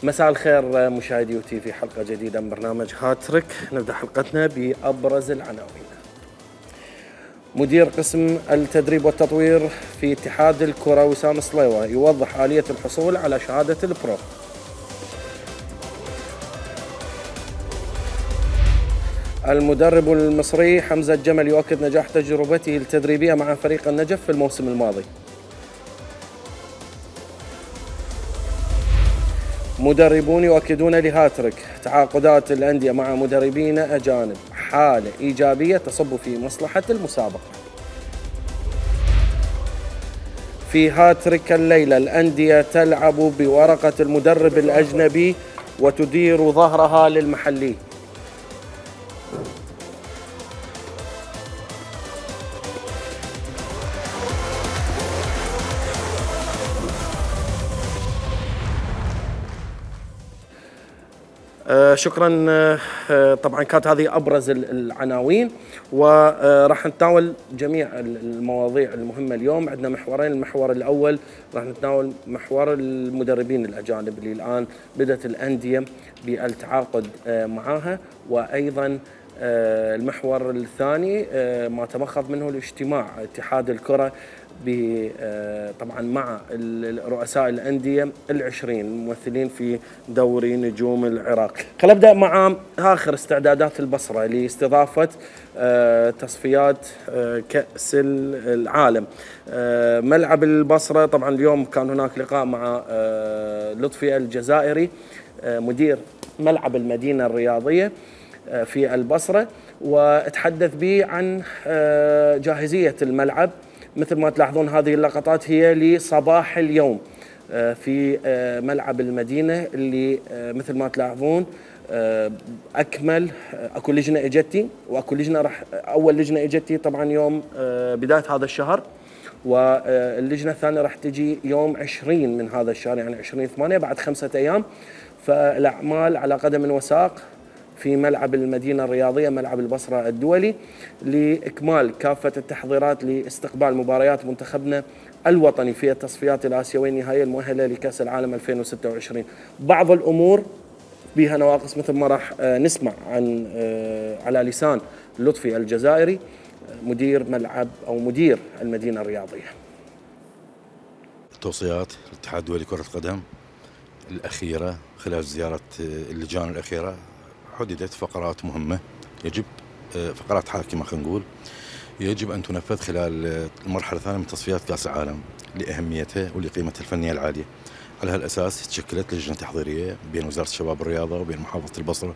مساء الخير مشاهدي وتي في حلقة جديدة من برنامج هاتريك. نبدأ حلقتنا بأبرز العناوين. مدير قسم التدريب والتطوير في اتحاد الكرة وسام صليوة يوضح آلية الحصول على شهادة البرو. المدرب المصري حمزة الجمل يؤكد نجاح تجربته التدريبية مع فريق النجف في الموسم الماضي. مدربون يؤكدون لهاتريك تعاقدات الأندية مع مدربين أجانب حالة إيجابية تصب في مصلحة المسابقة. في هاتريك الليلة الأندية تلعب بورقة المدرب الأجنبي وتدير ظهرها للمحلي. شكرا. طبعا كانت هذه أبرز العناوين، وراح نتناول جميع المواضيع المهمة اليوم. عندنا محورين. المحور الأول راح نتناول محور المدربين الأجانب اللي الآن بدأت الأندية بالتعاقد معها، وأيضا المحور الثاني ما تمخض منه الاجتماع اتحاد الكرة طبعا مع رؤساء الأندية العشرين الممثلين في دوري نجوم العراق. خلينا نبدأ مع آخر استعدادات البصرة لاستضافة تصفيات كأس العالم. ملعب البصرة طبعا اليوم كان هناك لقاء مع لطفي الجزائري مدير ملعب المدينة الرياضية في البصرة، وتحدث به عن جاهزية الملعب. مثل ما تلاحظون هذه اللقطات هي لصباح اليوم في ملعب المدينة اللي مثل ما تلاحظون أكمل. أكو لجنة إجتي وأكو لجنة أول لجنة إجتي طبعا يوم بداية هذا الشهر، واللجنة الثانية راح تجي يوم 20 من هذا الشهر، يعني 20/8 بعد 5 أيام. فالأعمال على قدم وساق في ملعب المدينة الرياضية ملعب البصرة الدولي لإكمال كافة التحضيرات لاستقبال مباريات منتخبنا الوطني في التصفيات الآسيوية النهائية المؤهلة لكأس العالم 2026. بعض الأمور بها نواقص مثل ما راح نسمع عن على لسان لطفي الجزائري مدير ملعب أو مدير المدينة الرياضية. توصيات الاتحاد الدولي لكرة القدم الأخيرة خلال زيارة اللجان الأخيرة حددت فقرات مهمة يجب فقرات حاكمة خلينا نقول يجب أن تنفذ خلال المرحلة الثانية من تصفيات كأس العالم لأهميتها ولقيمتها الفنية العالية. على هالأساس تشكلت لجنة تحضيرية بين وزارة الشباب والرياضة وبين محافظة البصرة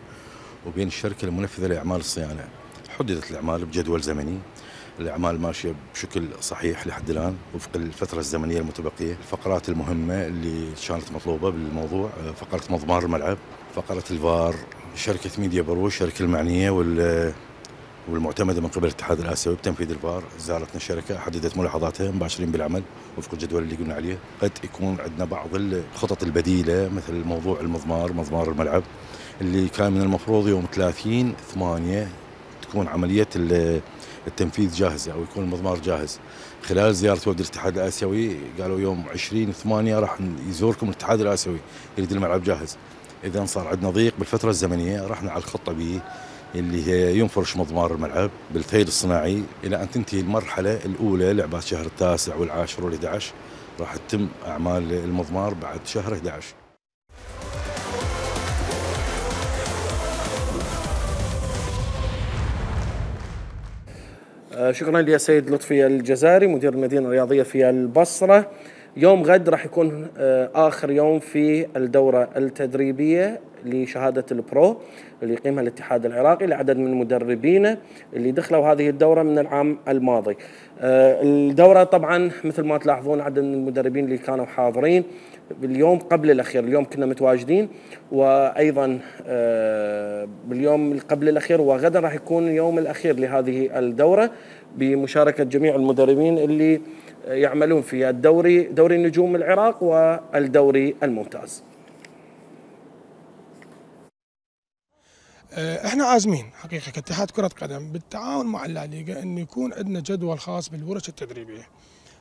وبين الشركة المنفذة لأعمال الصيانة. حددت الأعمال بجدول زمني، الأعمال ماشية بشكل صحيح لحد الآن وفق الفترة الزمنية المتبقية. الفقرات المهمة اللي كانت مطلوبة بالموضوع فقرة مضمار الملعب، فقرة الفار، شركة ميديا برو الشركة المعنية والمعتمدة من قبل الاتحاد الآسيوي بتنفيذ الفار. زارتنا الشركة حددت ملاحظاتها مباشرين بالعمل وفق الجدول اللي قلنا عليه. قد يكون عندنا بعض الخطط البديلة مثل موضوع مضمار الملعب اللي كان من المفروض يوم 30/8 تكون عملية التنفيذ جاهزة أو يكون المضمار جاهز. خلال زيارة وفد الاتحاد الآسيوي قالوا يوم 20/8 راح يزوركم الاتحاد الآسيوي يريد الملعب جاهز. إذا صار عندنا ضيق بالفترة الزمنية رحنا على الخطة بي اللي هي ينفرش مضمار الملعب بالثيل الصناعي إلى أن تنتهي المرحلة الأولى لعبات شهر 9 والعاشر وال11 راح تتم أعمال المضمار بعد شهر 11. شكرا للسيد لطفي الجزائري مدير المدينة الرياضية في البصرة. يوم غد راح يكون آخر يوم في الدورة التدريبية لشهادة البرو اللي يقيمها الاتحاد العراقي لعدد من المدربين اللي دخلوا هذه الدورة من العام الماضي. الدورة طبعا مثل ما تلاحظون عدد من المدربين اللي كانوا حاضرين باليوم قبل الأخير، اليوم كنا متواجدين، وأيضا باليوم قبل الأخير وغدا راح يكون اليوم الأخير لهذه الدورة بمشاركة جميع المدربين اللي يعملون في دوري نجوم العراق والدوري الممتاز. احنا عازمين حقيقه كاتحاد كره قدم بالتعاون مع الليغا ان يكون عندنا جدول خاص بالورش التدريبيه.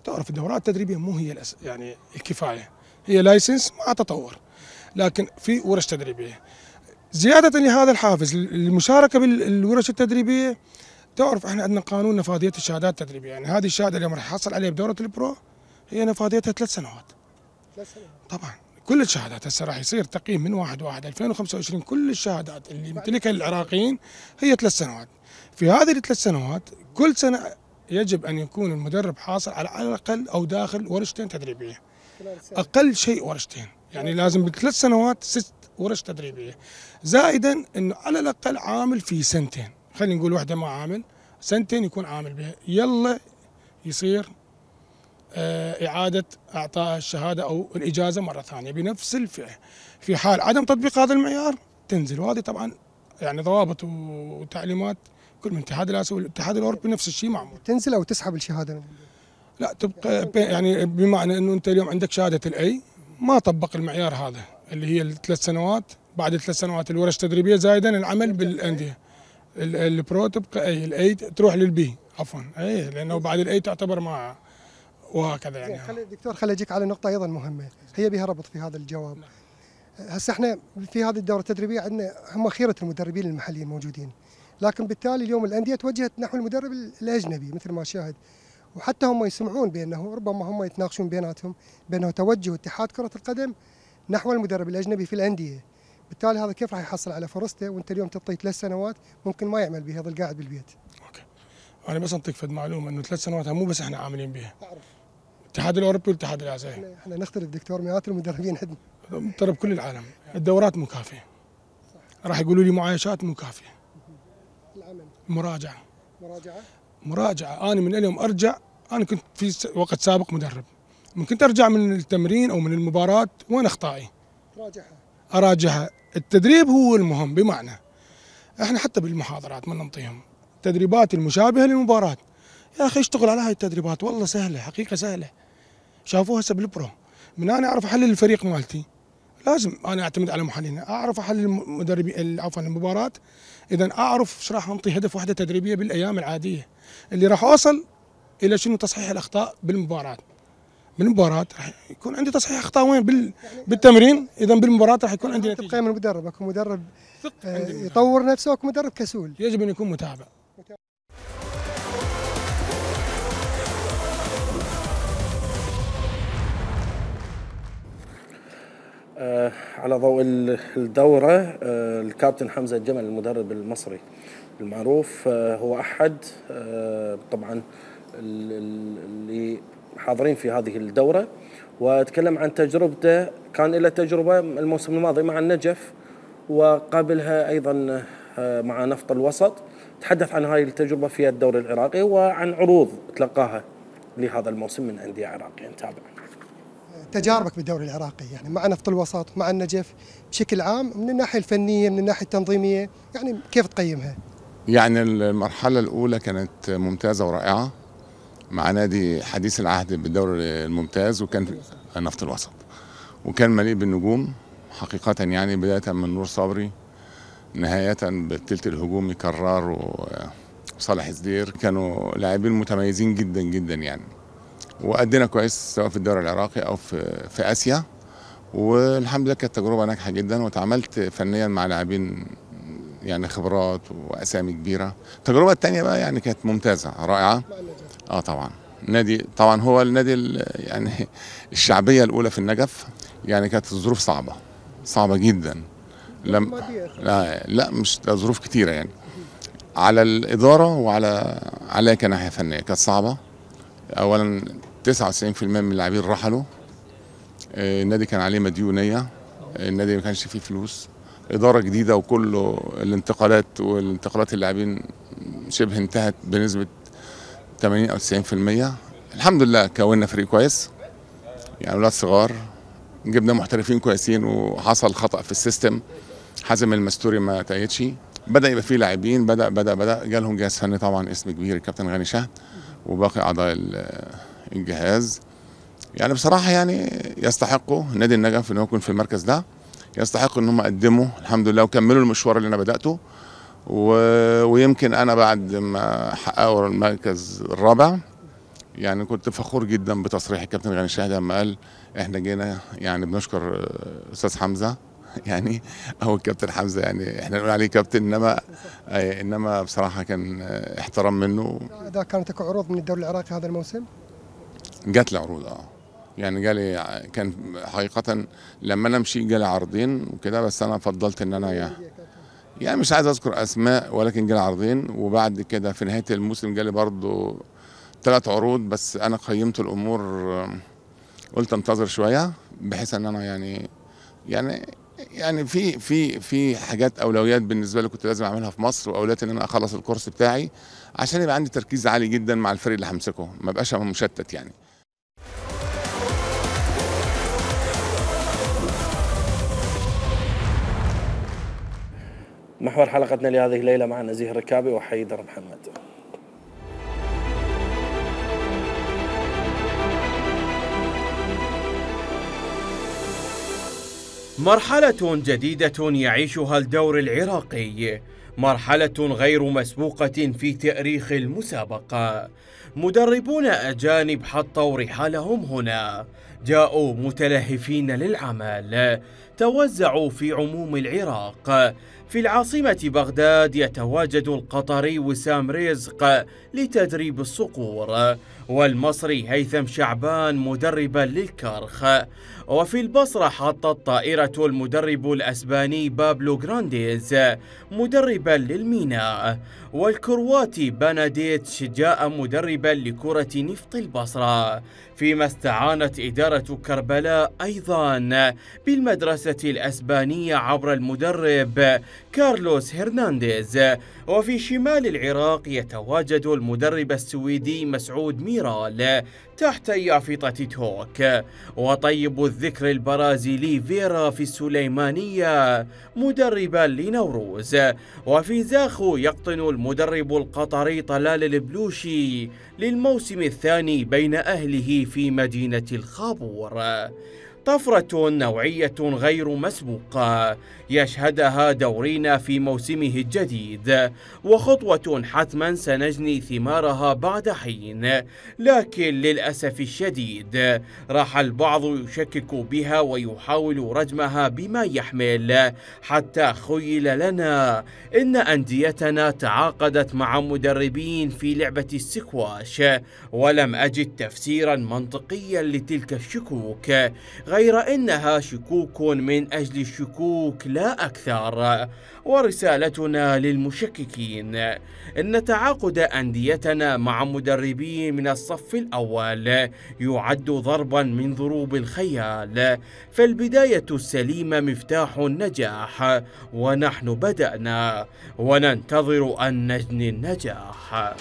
تعرف الدورات التدريبيه مو هي يعني الكفايه، هي لايسنس مع تطور. لكن في ورش تدريبيه. زياده لهذا الحافز للمشاركه بالورش التدريبيه، تعرف احنا عندنا قانون نفاذيه الشهادات التدريبيه، يعني هذه الشهاده اللي راح يحصل عليها بدوره البرو هي نفاذيتها 3 سنوات. طبعا كل الشهادات هسه راح يصير تقييم من 1/1/2025، كل الشهادات اللي يمتلكها العراقيين هي 3 سنوات. في هذه ال3 سنوات كل سنه يجب ان يكون المدرب حاصل على الاقل او داخل ورشتين تدريبيه. اقل شيء ورشتين، يعني لازم ب3 سنوات 6 ورش تدريبيه، زائدا انه على الاقل عامل في سنتين، خلينا نقول واحده ما عامل سنتين يكون عامل بها، يلا يصير إعادة إعطاء الشهادة أو الإجازة مرة ثانية بنفس الفئة. في حال عدم تطبيق هذا المعيار تنزل، وهذه طبعا يعني ضوابط وتعليمات كل من الاتحاد الآسيوي والاتحاد الأوروبي نفس الشيء معمول. تنزل أو تسحب الشهادة؟ لا، تبقى يعني بمعنى أنه أنت اليوم عندك شهادة الأي ما طبق المعيار هذا اللي هي ال3 سنوات، بعد 3 سنوات الورش التدريبية زائدا العمل بالأندية. البرو تبقى أي، الأي تروح للبي عفوا، أي لأنه بعد الأي تعتبر ما وهكذا يعني. دكتور خليني اجيك على نقطه ايضا مهمه هي بها ربط في هذا الجواب. هسه احنا في هذه الدوره التدريبيه عندنا هم خيره المدربين المحليين موجودين، لكن بالتالي اليوم الانديه توجهت نحو المدرب الاجنبي مثل ما شاهد، وحتى هم يسمعون بانه ربما هم يتناقشون بيناتهم بانه توجه اتحاد كره القدم نحو المدرب الاجنبي في الانديه. بالتالي هذا كيف راح يحصل على فرصته وانت اليوم تعطيه 3 سنوات ممكن ما يعمل بها، يظل قاعد بالبيت. اوكي، انا بس انطيك فد معلومه انه 3 سنوات مو بس احنا عاملين بها، الاتحاد الاوروبي والاتحاد الاسيوي. احنا نختلف دكتور، مئات المدربين عندنا مدرب كل العالم. الدورات مكافئه، راح يقولوا لي معايشات مكافئه. العمل مراجعه انا من اليوم ارجع، انا كنت في وقت سابق مدرب، ممكن ارجع من التمرين او من المباراه وين اخطائي اراجعها. التدريب هو المهم، بمعنى احنا حتى بالمحاضرات ما ننطيهم التدريبات المشابهه للمباراه. يا اخي اشتغل على هاي التدريبات، والله سهله، حقيقه سهله. شافوها هسه بالبرو، من انا اعرف احلل الفريق مالتي لازم انا اعتمد على محللين، اعرف احلل المدربين عفوا المباراه، اذا اعرف ايش راح انطي هدف وحده تدريبيه بالايام العاديه اللي راح اوصل الى شنو تصحيح الاخطاء بالمباراه. بالمباراه راح يكون عندي تصحيح اخطاء وين؟ بالتمرين، اذا بالمباراه راح يكون عندي نتيجه. تقيم المدرب، اكو مدرب يطور نفسه واكو مدرب كسول، يجب ان يكون متابع. على ضوء الدورة، الكابتن حمزة الجمل المدرب المصري المعروف هو أحد طبعا اللي حاضرين في هذه الدورة، وتكلم عن تجربته. كان له تجربة الموسم الماضي مع النجف وقابلها أيضا مع نفط الوسط. تحدث عن هاي التجربة في الدوري العراقي وعن عروض تلقاها لهذا الموسم من أندية عراقية. نتابع تجاربك بالدوري العراقي يعني مع نفط الوسط مع النجف بشكل عام، من الناحيه الفنيه من الناحيه التنظيميه، يعني كيف تقيمها؟ يعني المرحله الاولى كانت ممتازه ورائعه مع نادي حديث العهد بالدوري الممتاز، وكان نفط الوسط، وكان مليء بالنجوم حقيقه، يعني بدايه من نور صبري نهايه بالثلث الهجومي كرار وصالح زدير، كانوا لاعبين متميزين جدا جدا يعني، وأدينا كويس سواء في الدوري العراقي أو في آسيا، والحمد لله كانت تجربة ناجحة جدا، وتعاملت فنيا مع لاعبين يعني خبرات وأسامي كبيرة. التجربة الثانية بقى يعني كانت ممتازة رائعة. طبعا نادي، طبعا هو النادي يعني الشعبية الأولى في النجف، يعني كانت الظروف صعبة جدا. لا مش ظروف كتيرة يعني، على الإدارة عليها كناحية فنية كانت صعبة. اولا 99% من اللاعبين رحلوا، النادي كان عليه مديونيه، النادي ما كانش فيه فلوس، اداره جديده، وكله والانتقالات اللاعبين شبه انتهت بنسبه 80 او 90%. الحمد لله كونا فريق كويس، يعني اولاد صغار، جبنا محترفين كويسين، وحصل خطا في السيستم، حازم المستوري ما تأيدش، بدا يبقى فيه لاعبين، بدا جالهم جهاز فني طبعا اسم كبير الكابتن غاني شهد وباقي اعضاء الجهاز. يعني بصراحه يعني يستحقوا نادي النجف ان هو يكون في المركز ده، يستحقوا ان هم قدموا الحمد لله وكملوا المشوار اللي انا بداته، ويمكن انا بعد ما حققوا المركز الرابع يعني كنت فخور جدا بتصريح الكابتن غاني الشاهدي لما قال احنا جينا، يعني بنشكر استاذ حمزه يعني او الكابتن حمزه، يعني احنا نقول عليه كابتن، انما بصراحه كان احترام منه. اذا كانت اكو عروض من الدوري العراقي هذا الموسم؟ جات لي عروض يعني جالي، كان حقيقه لما انا مشي جالي عرضين وكده، بس انا فضلت ان انا يعني مش عايز اذكر اسماء، ولكن جالي عرضين. وبعد كده في نهايه الموسم جالي برضو 3 عروض، بس انا قيمت الامور، قلت انتظر شويه بحيث ان انا يعني في حاجات اولويات بالنسبه لي كنت لازم اعملها في مصر، واولويات ان انا اخلص الكورس بتاعي عشان يبقى عندي تركيز عالي جدا مع الفريق اللي همسكه، ما بقاش مشتت يعني. محور حلقتنا لهذه الليله مع نزيه الركابي وحيدر محمد. مرحلة جديدة يعيشها الدوري العراقي، مرحلة غير مسبوقة في تاريخ المسابقة. مدربون أجانب حطوا رحالهم هنا، جاءوا متلهفين للعمل، توزعوا في عموم العراق. في العاصمة بغداد يتواجد القطري وسام رزق لتدريب الصقور، والمصري هيثم شعبان مدربا للكرخ، وفي البصرة حطت طائرة المدرب الأسباني بابلو غرانديز مدربا للميناء، والكرواتي بناديتش جاء مدربا لكرة نفط البصرة، فيما استعانت إدارة كربلاء أيضا بالمدرسة الأسبانية عبر المدرب كارلوس هرنانديز. وفي شمال العراق يتواجد المدرب السويدي مسعود ميرال تحت يافطة توك، وطيب الذكر البرازيلي فيرا في السليمانية مدربا لنوروز. وفي زاخو يقطن المدرب القطري طلال البلوشي للموسم الثاني بين أهله في مدينة الخابور. طفرة نوعية غير مسبوقة يشهدها دورينا في موسمه الجديد، وخطوة حتما سنجني ثمارها بعد حين، لكن للأسف الشديد راح البعض يشكك بها ويحاول رجمها بما يحمل، حتى خيل لنا إن أنديتنا تعاقدت مع مدربين في لعبة السكواش، ولم أجد تفسيرا منطقيا لتلك الشكوك، غير إنها شكوك من أجل الشكوك لا أكثر. ورسالتنا للمشككين إن تعاقد أنديتنا مع مدربين من الصف الأول يعد ضربا من ضروب الخيال، فالبداية السليمة مفتاح النجاح، ونحن بدأنا وننتظر أن نجني النجاح.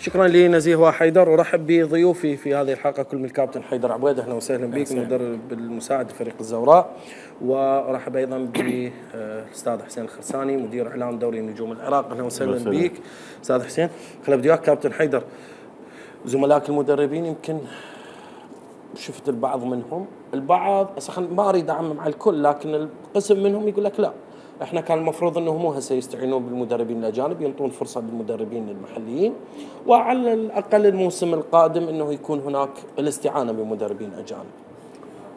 شكرا لنزيه وحيدر، ورحب بضيوفي في هذه الحلقه كل من الكابتن حيدر عبيد، اهلا وسهلا بك، مدرب المساعد فريق الزوراء، ورحب ايضا بالاستاذ حسين الخرساني مدير اعلام دوري نجوم العراق، اهلا وسهلا بك استاذ حسين. خل ابدي وياك كابتن حيدر، زملائك المدربين يمكن شفت البعض منهم، البعض ما اريد اعمم على الكل، لكن القسم منهم يقول لك لا احنا كان المفروض انه مو هسه يستعينون بالمدربين الاجانب، ينطون فرصه للمدربين المحليين، وعلى الاقل الموسم القادم انه يكون هناك الاستعانه بمدربين اجانب.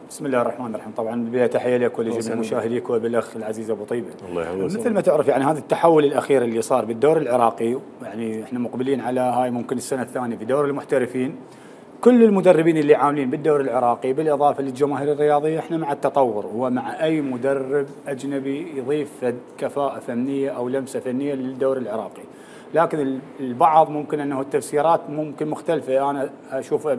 بسم الله الرحمن الرحيم. طبعا بالبدايه تحيه لك ولجميع مشاهديك وبالاخ العزيز ابو طيبه. الله يحفظك. مثل ما تعرف يعني هذا التحول الاخير اللي صار بالدوري العراقي، يعني احنا مقبلين على هاي ممكن السنه الثانيه في دوري المحترفين، كل المدربين اللي عاملين بالدوري العراقي بالاضافه للجماهير الرياضيه احنا مع التطور، ومع اي مدرب اجنبي يضيف كفاءه فنيه او لمسه فنيه للدوري العراقي. لكن البعض ممكن انه التفسيرات ممكن مختلفه، انا اشوفها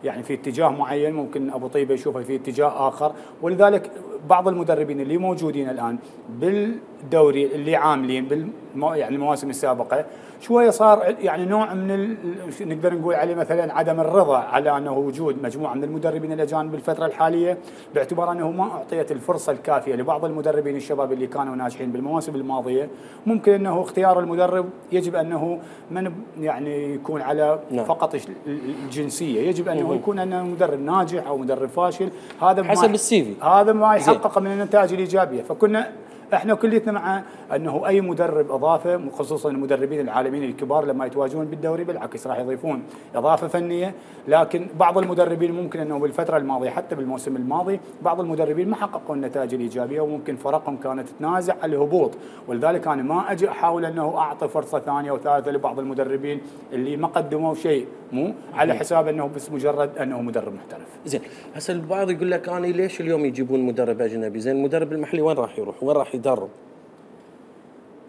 في اتجاه معين، ممكن ابو طيبه يشوفها في اتجاه اخر، ولذلك بعض المدربين اللي موجودين الان بالدوري اللي عاملين يعني المواسم السابقه شويه صار يعني نوع من نقدر نقول عليه مثلا عدم الرضا على انه وجود مجموعه من المدربين الاجانب بالفتره الحاليه، باعتبار انه ما اعطيت الفرصه الكافيه لبعض المدربين الشباب اللي كانوا ناجحين بالمواسم الماضيه. ممكن انه اختيار المدرب يجب انه من يعني يكون على فقط الجنسيه، يجب انه يكون انه مدرب ناجح او مدرب فاشل، هذا حسب السي في، هذا ما يحقق من النتائج الايجابيه. فكنا احنا كليتنا مع انه اي مدرب اضافه، خصوصا المدربين العالميين الكبار لما يتواجدون بالدوري بالعكس راح يضيفون اضافه فنيه، لكن بعض المدربين ممكن انه بالفتره الماضيه حتى بالموسم الماضي بعض المدربين ما حققوا النتائج الايجابيه وممكن فرقهم كانت تنازع على الهبوط، ولذلك انا ما اجي احاول انه اعطي فرصه ثانيه وثالثه لبعض المدربين اللي ما قدموا شيء، مو على حساب انه بس مجرد انه مدرب محترف. زين، هسه البعض يقول لك انا ليش اليوم يجيبون مدرب اجنبي؟ زين المدرب المحلي وين راح يروح؟ وين راح يدرب؟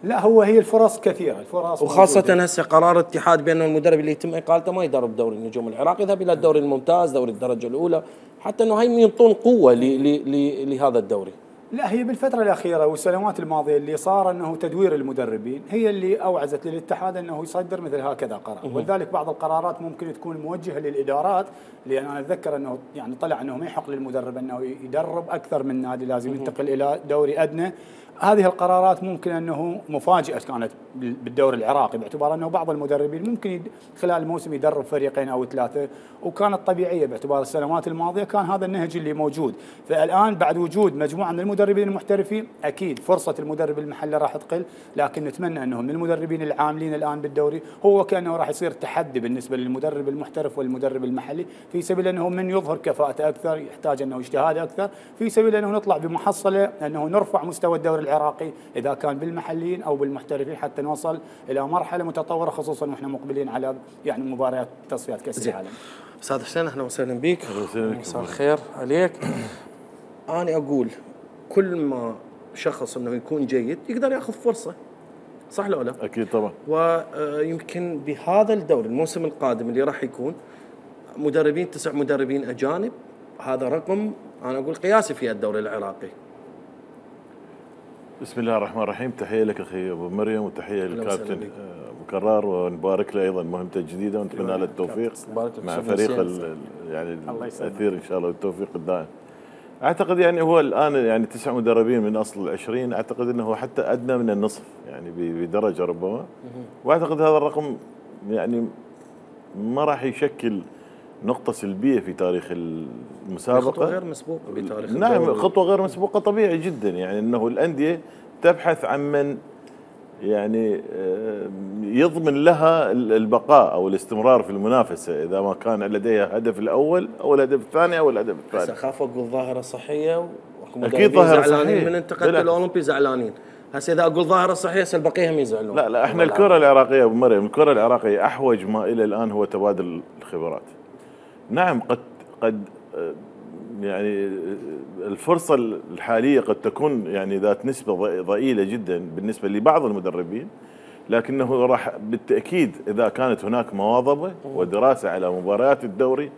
لا هي الفرص كثيره، الفرص وخاصه هسه قرار الاتحاد بان المدرب اللي يتم اقالته ما يدرب دوري النجوم العراقي، يذهب الى الدوري الممتاز، دوري الدرجه الاولى، حتى انه هاي ينطون قوه لهذا الدوري. لا هي بالفترة الأخيرة والسنوات الماضية اللي صار أنه تدوير المدربين هي اللي أوعزت للاتحاد أنه يصدر مثل هكذا قرار، ولذلك بعض القرارات ممكن تكون موجهة للإدارات، لأن أنا أتذكر أنه يعني طلع أنه ما يحق للمدرب أنه يدرب أكثر من نادي، لازم ينتقل إلى دوري أدنى. هذه القرارات ممكن أنه مفاجئة كانت بالدوري العراقي، باعتبار أنه بعض المدربين ممكن خلال الموسم يدرب فريقين أو ثلاثة، وكانت طبيعية باعتبار السنوات الماضية كان هذا النهج اللي موجود. فالآن بعد وجود مجموعة من المدربين المحترفين أكيد فرصة المدرب المحلي راح تقل، لكن نتمنى أنه من المدربين العاملين الآن بالدوري هو كأنه راح يصير تحدي بالنسبة للمدرب المحترف والمدرب المحلي، في سبيل أنه من يظهر كفاءته أكثر يحتاج أنه اجتهاد أكثر، في سبيل أنه نطلع بمحصلة أنه نرفع مستوى الدوري العراقي إذا كان بالمحليين أو بالمحترفين حتى نوصل إلى مرحلة متطورة، خصوصا وإحنا مقبلين على يعني مباريات تصفيات كأس العالم. أستاذ حسين أهلا وسهلا بك. مساء الخير عليك. أنا أقول كل ما شخص أنه يكون جيد يقدر يأخذ فرصة، صح لو لا؟ أكيد طبعا. ويمكن بهذا الدوري الموسم القادم اللي راح يكون مدربين 9 مدربين أجانب، هذا رقم أنا أقول قياسي في الدوري العراقي. بسم الله الرحمن الرحيم، تحية لك أخي أبو مريم وتحية للكابتن أبو كرار، ونبارك له أيضا مهمته الجديدة ونتمنى له التوفيق مع فريق يعني الأثير إن شاء الله والتوفيق الدائم. أعتقد يعني هو الآن يعني 9 مدربين من أصل 20، أعتقد أنه حتى أدنى من النصف يعني بدرجة ربما، وأعتقد هذا الرقم يعني ما راح يشكل نقطة سلبية في تاريخ المسابقة. خطوة غير مسبوقة بتاريخ نعم، خطوة غير مسبوقة طبيعي جدا، يعني أنه الأندية تبحث عن من يعني يضمن لها البقاء أو الاستمرار في المنافسة إذا ما كان لديها الهدف الأول أو الهدف الثاني أو الهدف الثالث. هسه خافوا أقول ظاهرة صحية، أكيد ظاهرة صحية. من انتقلت الأولمبي زعلانين، هسه إذا أقول ظاهرة صحية البقية هم يزعلون. لا احنا الكرة العراقية أبو مريم، الكرة العراقية أحوج ما إلى الآن هو تبادل الخبرات. نعم قد يعني الفرصة الحالية قد تكون يعني ذات نسبة ضئيلة جدا بالنسبة لبعض المدربين، لكنه راح بالتأكيد إذا كانت هناك مواظبة ودراسة على مباريات الدوري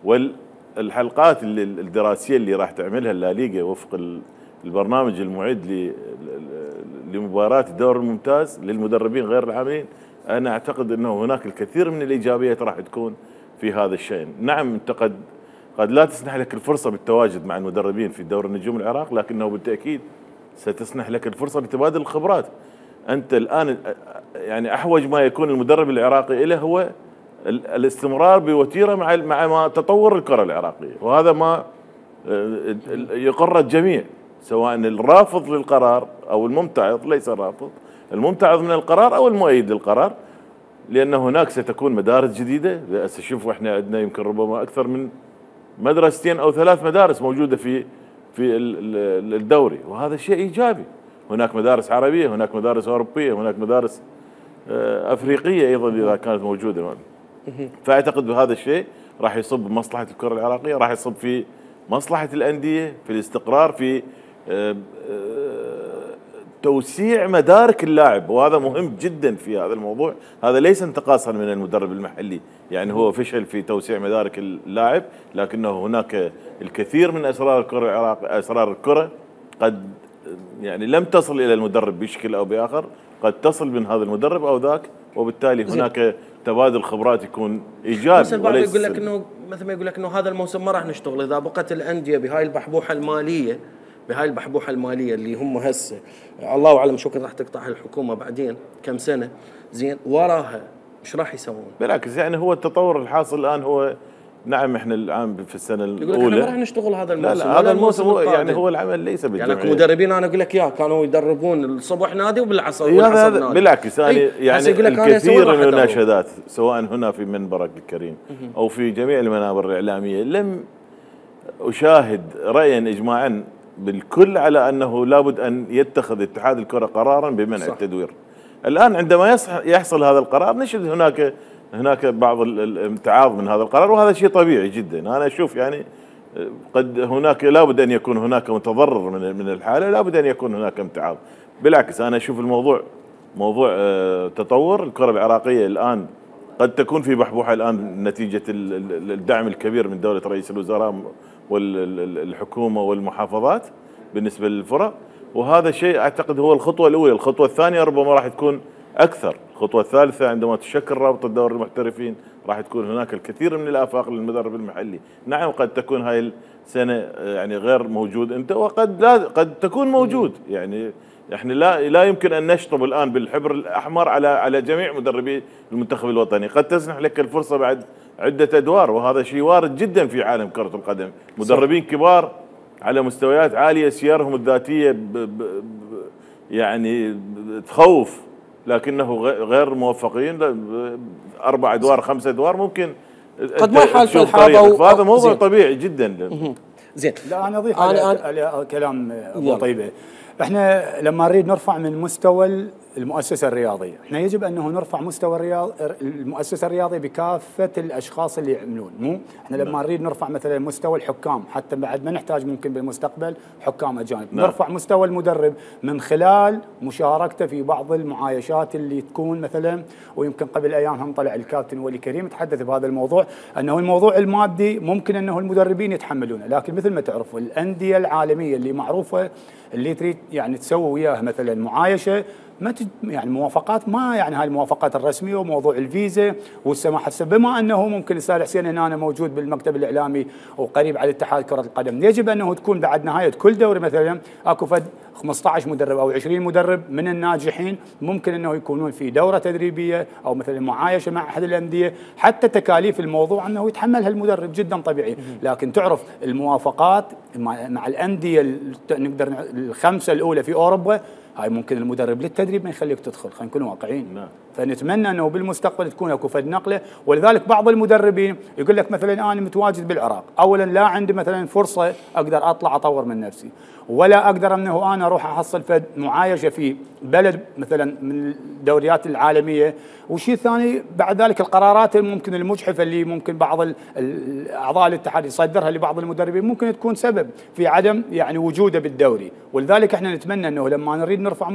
والحلقات الدراسية اللي راح تعملها الليغا وفق البرنامج المعد لمباراة الدوري الممتاز للمدربين غير العاملين، أنا أعتقد أنه هناك الكثير من الإيجابيات راح تكون في هذا الشأن. نعم أنت قد لا تسنح لك الفرصة بالتواجد مع المدربين في دوري النجوم العراق، لكنه بالتأكيد ستسنح لك الفرصة بتبادل الخبرات. أنت الآن يعني أحوج ما يكون المدرب العراقي إليه هو الاستمرار بوتيرة مع ما تطور الكرة العراقية، وهذا ما يقر الجميع سواء الرافض للقرار أو الممتعض، ليس الرافض، الممتعض من القرار أو المؤيد للقرار، لأن هناك ستكون مدارس جديدة. شوفوا احنا عندنا يمكن ربما أكثر من مدرستين أو 3 مدارس موجودة في الدوري، وهذا شيء إيجابي. هناك مدارس عربية، هناك مدارس أوروبية، هناك مدارس أفريقية أيضا إذا كانت موجودة. فأعتقد بهذا الشيء راح يصب بمصلحة الكرة العراقية، راح يصب في مصلحة الأندية، في الاستقرار، في توسيع مدارك اللاعب، وهذا مهم جدا في هذا الموضوع. هذا ليس انتقاصا من المدرب المحلي، يعني هو فشل في توسيع مدارك اللاعب، لكنه هناك الكثير من أسرار الكرة العراقية، أسرار الكرة قد يعني لم تصل الى المدرب بشكل او باخر، قد تصل من هذا المدرب او ذاك، وبالتالي هناك تبادل خبرات يكون ايجابي. بس البعض يقول لك انه مثل ما يقول لك انه هذا الموسم ما راح نشتغل اذا بقت الانديه بهاي البحبوحه الماليه، اللي هم هسه الله اعلم شو كان راح تقطعها الحكومه بعدين كم سنه، زين وراها ايش راح يسوون؟ بالعكس يعني هو التطور الحاصل الان هو نعم احنا الان في السنه الاولى يقول لك احنا ما راح نشتغل هذا الموسم. لا هذا الموسم هو يعني هو العمل ليس بالجمعيه. يعني مدربين انا اقول لك كانوا يدربون الصبح نادي وبالعصر نادي. بالعكس يعني الكثير من المناشدات سواء هنا في منبرك الكريم او في جميع المنابر الاعلاميه لم اشاهد رايا اجماعا بالكل على انه لابد ان يتخذ اتحاد الكره قرارا بمنع التدوير. الان عندما يحصل هذا القرار نجد هناك بعض الامتعاض من هذا القرار، وهذا شيء طبيعي جدا. انا اشوف يعني قد هناك لابد ان يكون هناك متضرر من الحاله، لابد ان يكون هناك امتعاض. بالعكس انا اشوف الموضوع موضوع تطور الكره العراقيه الان قد تكون في بحبوحه الان نتيجه الدعم الكبير من دوله رئيس الوزراء والحكومه والمحافظات بالنسبه للفرق، وهذا الشيء اعتقد هو الخطوه الاولى. الخطوه الثانيه ربما راح تكون اكثر. الخطوه الثالثه عندما تشكل رابطه دوري المحترفين راح تكون هناك الكثير من الافاق للمدرب المحلي. نعم قد تكون هاي السنه يعني غير موجود انت، وقد لا قد تكون موجود. يعني احنا لا يمكن ان نشطب الان بالحبر الاحمر على جميع مدربي المنتخب الوطني. قد تسنح لك الفرصه بعد عده ادوار، وهذا شيء وارد جدا في عالم كره القدم. مدربين كبار على مستويات عاليه سيرهم الذاتيه يعني تخوف، لكنه غير موفقين 4 ادوار 5 ادوار ممكن قد ما يحال في الحاضه، فهذا موضوع طبيعي جدا. زين لا انا اضيف على كلام ابو طيبه. احنا لما نريد نرفع من مستوى المؤسسه الرياضيه، احنا يجب انه نرفع مستوى المؤسسه الرياضيه بكافه الاشخاص اللي يعملون، مو احنا لما نريد نرفع مثلا مستوى الحكام، حتى بعد ما نحتاج ممكن بالمستقبل حكام اجانب، نرفع مستوى المدرب من خلال مشاركته في بعض المعايشات اللي تكون مثلا. ويمكن قبل ايام هم طلع الكابتن ولي كريم تحدث بهذا الموضوع، انه الموضوع المادي ممكن انه المدربين يتحملونه، لكن مثل ما تعرفوا الانديه العالميه اللي معروفه اللي تريد يعني تسوي وياها مثلا معايشه ما يعني موافقات، ما يعني هاي الموافقات الرسميه وموضوع الفيزا والسماح. بما انه ممكن الاستاذ حسين هنا أنا موجود بالمكتب الاعلامي وقريب على اتحاد كره القدم، يجب انه تكون بعد نهايه كل دوري مثلا اكو فد 15 مدرب او 20 مدرب من الناجحين ممكن انه يكونون في دوره تدريبيه او مثلا معايشه مع احد الانديه، حتى تكاليف الموضوع انه يتحملها المدرب جدا طبيعي. لكن تعرف الموافقات مع الانديه نقدر الخمسه الاولى في اوروبا، هاي ممكن المدرب للتدريب ما يخليك تدخل، خلينا نكون واقعيين. فنتمنى انه بالمستقبل تكون اكو فد نقله. ولذلك بعض المدربين يقول لك مثلا انا متواجد بالعراق، اولا لا عندي مثلا فرصه اقدر اطلع اطور من نفسي، ولا اقدر انه انا اروح احصل فد معايشه في بلد مثلا من الدوريات العالميه. والشيء الثاني بعد ذلك القرارات ممكن المجحفه اللي ممكن بعض اعضاء الاتحاد يصدرها لبعض المدربين ممكن تكون سبب في عدم يعني وجوده بالدوري. ولذلك احنا نتمنى انه لما نريد نرفع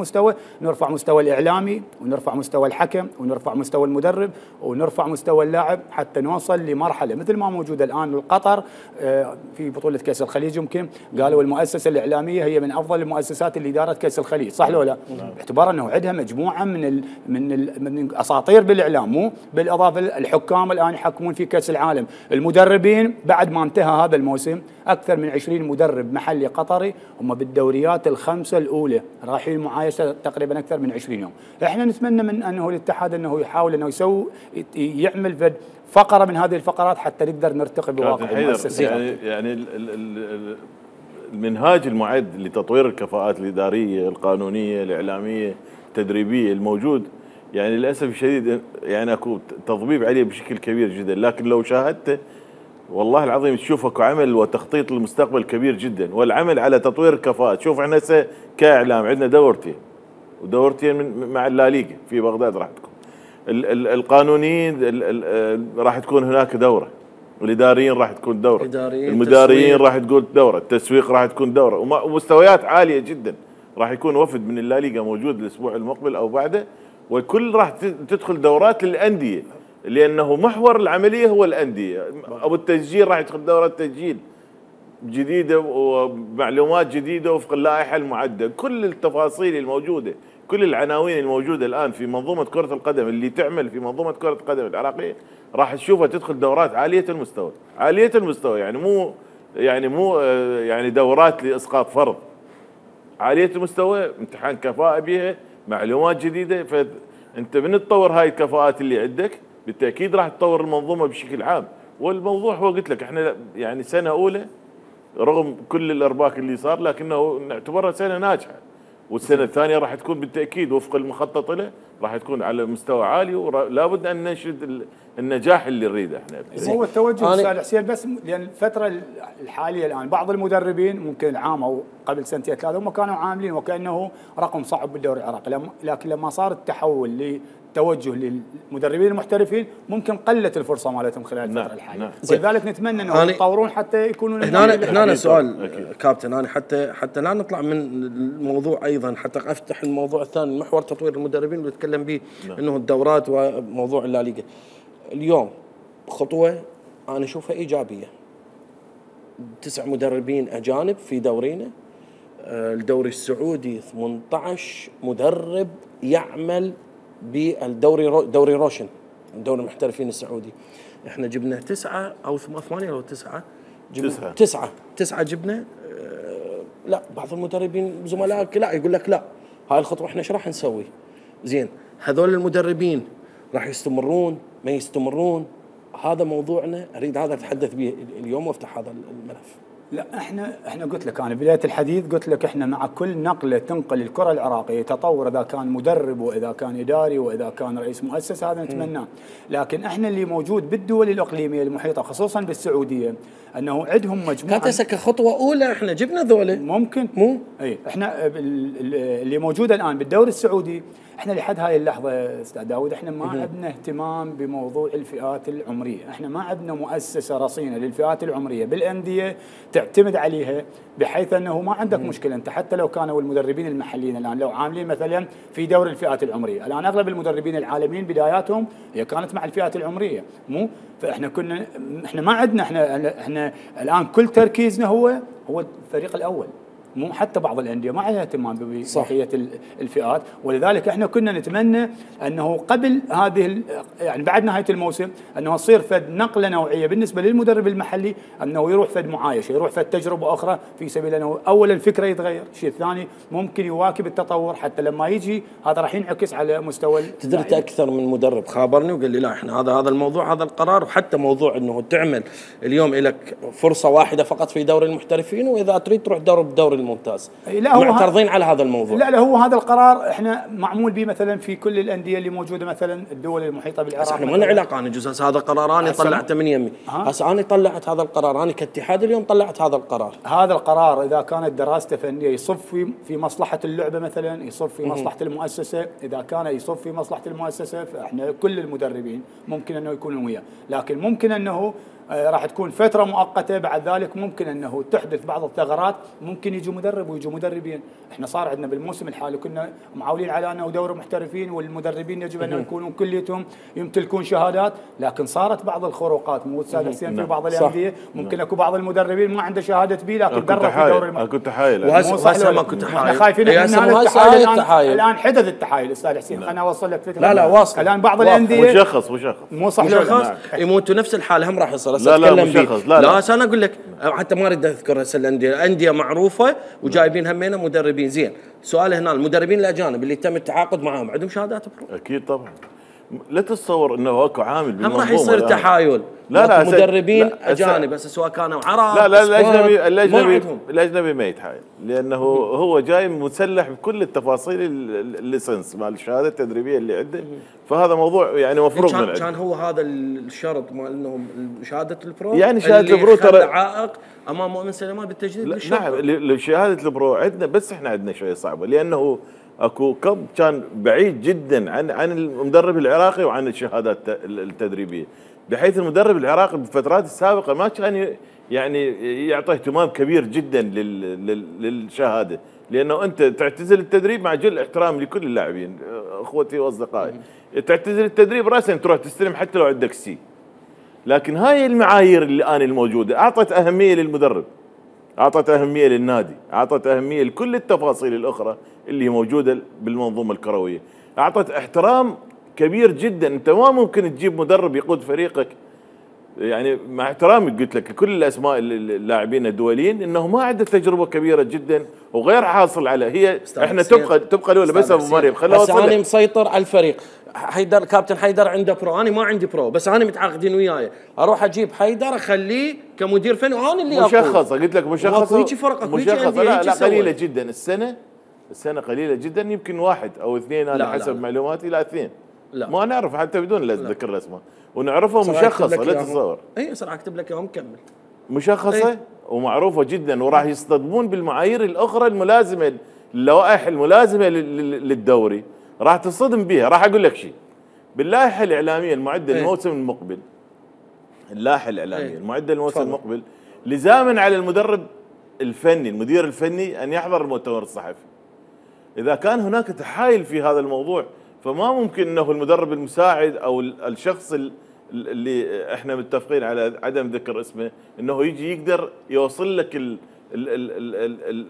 مستوى الاعلامي، ونرفع مستوى الحكم، ونرفع مستوى المدرب، ونرفع مستوى اللاعب، حتى نوصل لمرحله مثل ما موجوده الان القطر في بطوله كاس الخليج. يمكن قالوا المؤسسه الاعلاميه هي من افضل المؤسسات اللي دارت كاس الخليج، صح لو لا؟ باعتبار انه عندها مجموعه من اساطير بالاعلام، مو بالاضافه الحكام الان يحكمون في كاس العالم، المدربين بعد ما انتهى هذا الموسم اكثر من 20 مدرب محلي قطري هم بالدوريات الخمسه الاولى رايحين معايشه تقريبا اكثر من 20 يوم. احنا نتمنى من انه الاتحاد انه يحاول انه يعمل فقره من هذه الفقرات حتى نقدر نرتقي بواقع المؤسسات. يعني المنهاج المعد لتطوير الكفاءات الاداريه، القانونيه، الاعلاميه، التدريبيه الموجود يعني للاسف الشديد يعني اكو تضبيب عليه بشكل كبير جدا، لكن لو شاهدته والله العظيم تشوف اكو عمل وتخطيط للمستقبل كبير جدا، والعمل على تطوير الكفاءات. شوف احنا هسه كاعلام عندنا ودورتين مع الليغا في بغداد راح تكون. القانونيين راح تكون هناك دوره، الاداريين راح تكون دوره، المداريين راح تكون دوره، التسويق راح تكون دوره، ومستويات عاليه جدا. راح يكون وفد من الليغا موجود الاسبوع المقبل او بعده، والكل راح تدخل دورات للانديه، لانه محور العمليه هو الانديه. او التسجيل راح يدخل دورات تسجيل، جديده ومعلومات جديده وفق اللائحه المعده، كل التفاصيل الموجوده، كل العناوين الموجوده الان في منظومه كره القدم اللي تعمل في منظومه كره القدم العراقيه راح تشوفها تدخل دورات عاليه المستوى، عاليه المستوى، يعني مو يعني دورات لاسقاط فرض، عاليه المستوى، امتحان كفاءه بها، معلومات جديده. فانت من تطور هاي الكفاءات اللي عندك بالتاكيد راح تطور المنظومه بشكل عام. والموضوع هو قلت لك احنا يعني سنه اولى رغم كل الارباك اللي صار لكنه نعتبرها سنه ناجحه، والسنه الثانيه راح تكون بالتاكيد وفق المخطط له راح تكون على مستوى عالي، ولا بد ان ننشد النجاح اللي نريده احنا. هو التوجه استاذ حسين، بس لان الفتره الحاليه الان بعض المدربين ممكن العام او قبل سنتين ثلاثه هم كانوا عاملين وكانه رقم صعب بالدوري العراقي، لكن لما صار التحول توجه للمدربين المحترفين ممكن قلت الفرصه مالتهم خلال الفتره الحاليه. ولذلك نتمنى انهم يتطورون حتى يكونون هنا سؤال كابتن، انا حتى لا نطلع من الموضوع ايضا، حتى افتح الموضوع الثاني محور تطوير المدربين اللي نتكلم به انه الدورات وموضوع الليغا. اليوم خطوه انا اشوفها ايجابيه، 9 مدربين اجانب في دورينا. الدوري السعودي 18 مدرب يعمل بالدوري، دوري روشن، دوري المحترفين السعودي. احنا جبنا 9 او 8 او 9 9 جبنا. لا بعض المدربين زملائك لا يقول لك لا هاي الخطوه احنا ايش راح نسوي؟ زين هذول المدربين راح يستمرون ما يستمرون؟ هذا موضوعنا، اريد هذا اتحدث به اليوم وافتح هذا الملف. لا احنا قلت لك انا بدايه الحديث قلت لك احنا مع كل نقله تنقل الكره العراقيه تطور، اذا كان مدرب واذا كان اداري واذا كان رئيس مؤسسه هذا نتمناه، لكن احنا اللي موجود بالدول الاقليميه المحيطه خصوصا بالسعوديه انه عندهم مجموعه. كانت كخطوه اولى احنا جبنا ذولا ممكن مو اي احنا اللي موجود الان بالدوري السعودي احنا لحد هاي اللحظه استاذ داود احنا ما عندنا اهتمام بموضوع الفئات العمريه، احنا ما عندنا مؤسسه رصينه للفئات العمريه بالانديه تعتمد عليها، بحيث انه ما عندك مشكله انت حتى لو كانوا المدربين المحليين الان لو عاملين مثلا في دوري الفئات العمريه، الان اغلب المدربين العالميين بداياتهم هي كانت مع الفئات العمريه، مو فاحنا احنا ما عندنا احنا الان كل تركيزنا هو الفريق الاول، مو حتى بعض الانديه ما عندها اهتمام ببقيه الفئات، ولذلك احنا كنا نتمنى انه قبل هذه يعني بعد نهايه الموسم انه تصير فد نقله نوعيه بالنسبه للمدرب المحلي، انه يروح فد معايشه، يروح فد تجربه اخرى في سبيل انه اولا الفكره يتغير، الشيء الثاني ممكن يواكب التطور حتى لما يجي هذا راح ينعكس على مستوى. تدرت اكثر من مدرب خابرني وقال لي لا احنا هذا الموضوع هذا القرار، وحتى موضوع انه تعمل اليوم لك فرصه واحده فقط في دوري المحترفين، واذا تريد تروح بالدوري الممتاز. لا معترضين على هذا الموضوع. لا هو هذا القرار احنا معمول به مثلا في كل الانديه اللي موجوده مثلا الدول المحيطه بالعراق. احنا ما لنا علاقه، انا جزء هذا قرار انا طلعته من يمي، هسه انا طلعت هذا القرار، انا كاتحاد اليوم طلعت هذا القرار. هذا القرار اذا كانت دراسته فنيه يصف في مصلحه اللعبه مثلا، يصف في مصلحه المؤسسه، اذا كان يصف في مصلحه المؤسسه فاحنا كل المدربين ممكن انه يكونوا وياه، لكن ممكن انه راح تكون فترة مؤقتة، بعد ذلك ممكن أنه تحدث بعض الثغرات، ممكن يجوا مدرب ويجوا مدربين. احنا صار عندنا بالموسم الحالي كنا معولين على أنه دوري محترفين والمدربين يجب أن يكونون كليتهم يمتلكون شهادات، لكن صارت بعض الخروقات مو أستاذ حسين في بعض الأندية ممكن اكو بعض المدربين ما عنده شهادة بي لكن درب في دوري المحترفين. كنت حايل وهسه ما كنت حايل، احنا خايفين من هذا التحايل. الآن حدث التحايل أستاذ حسين، أنا أوصل لك فكرة. لا واصل الآن بعض الأندية وشخص مو صح يموتوا نفس الحال هم راح يصير. لا انا اقول لك حتى ما اريد اذكر هسه الانديه معروفه وجايبين همينه مدربين زين. سؤال هنا المدربين الاجانب اللي تم التعاقد معهم عندهم شهادات برو؟ اكيد طبعا. لا تتصور انه اكو عامل بالمنظومه هم راح يصير تحايل. لا مدربين اجانب بس سواء كانوا عرب. لا الاجنبي ما يتحايل، لانه هو جاي مسلح بكل التفاصيل الليسنس مال الشهاده التدريبيه اللي عنده، فهذا موضوع يعني مفروغ من كان هو هذا الشرط مال انهم شهاده البرو، يعني شهاده البرو ترى عائق امام مؤمن سليمان بالتجديد. نعم شهاده البرو عندنا، بس احنا عندنا شويه صعبه لانه اكو كم كان بعيد جدا عن المدرب العراقي وعن الشهادات التدريبيه، بحيث المدرب العراقي بالفترات السابقه ما كان يعني يعطي اهتمام كبير جدا للشهاده، لانه انت تعتزل التدريب مع جل احترام لكل اللاعبين اخوتي واصدقائي، تعتزل التدريب راسا تروح تستلم حتى لو عندك سي، لكن هاي المعايير اللي انا الموجوده اعطت اهميه للمدرب، اعطت اهميه للنادي، اعطت اهميه لكل التفاصيل الاخرى اللي موجوده بالمنظومه الكرويه، اعطت احترام كبير جدا. انت ما ممكن تجيب مدرب يقود فريقك، يعني مع احترامي قلت لك كل الاسماء اللاعبين الدوليين انه ما عنده تجربه كبيره جدا وغير حاصل على هي. احنا تبقى الاولى بس ابو مريم خليني اوصل. انا مسيطر على الفريق. حيدر كابتن حيدر عنده برو، انا ما عندي برو، بس انا متعاقدين وياي، اروح اجيب حيدر اخليه كمدير فني وانا اللي مشخصه. قلت لك مشخصه. هيجي فرق مشخصه. لا قليله جدا السنه قليله جدا، يمكن واحد او اثنين انا حسب معلوماتي. لا اثنين. لا ما نعرف حتى بدون لا ذكر الاسماء، ونعرفها مشخصه لا تتصور. اي صراحه اكتب لك اياهم كمل. مشخصه ومعروفه جدا، وراح يصطدمون بالمعايير الاخرى الملازمه، اللوائح الملازمه للدوري راح تصطدم بها. راح اقول لك شيء، باللائحه الاعلاميه المعده للموسم المقبل، اللائحه الاعلاميه المعده للموسم المقبل، لزاما على المدرب الفني المدير الفني ان يحضر المؤتمر الصحفي. اذا كان هناك تحايل في هذا الموضوع، فما ممكن انه المدرب المساعد او الشخص اللي احنا متفقين على عدم ذكر اسمه انه يجي يقدر يوصل لك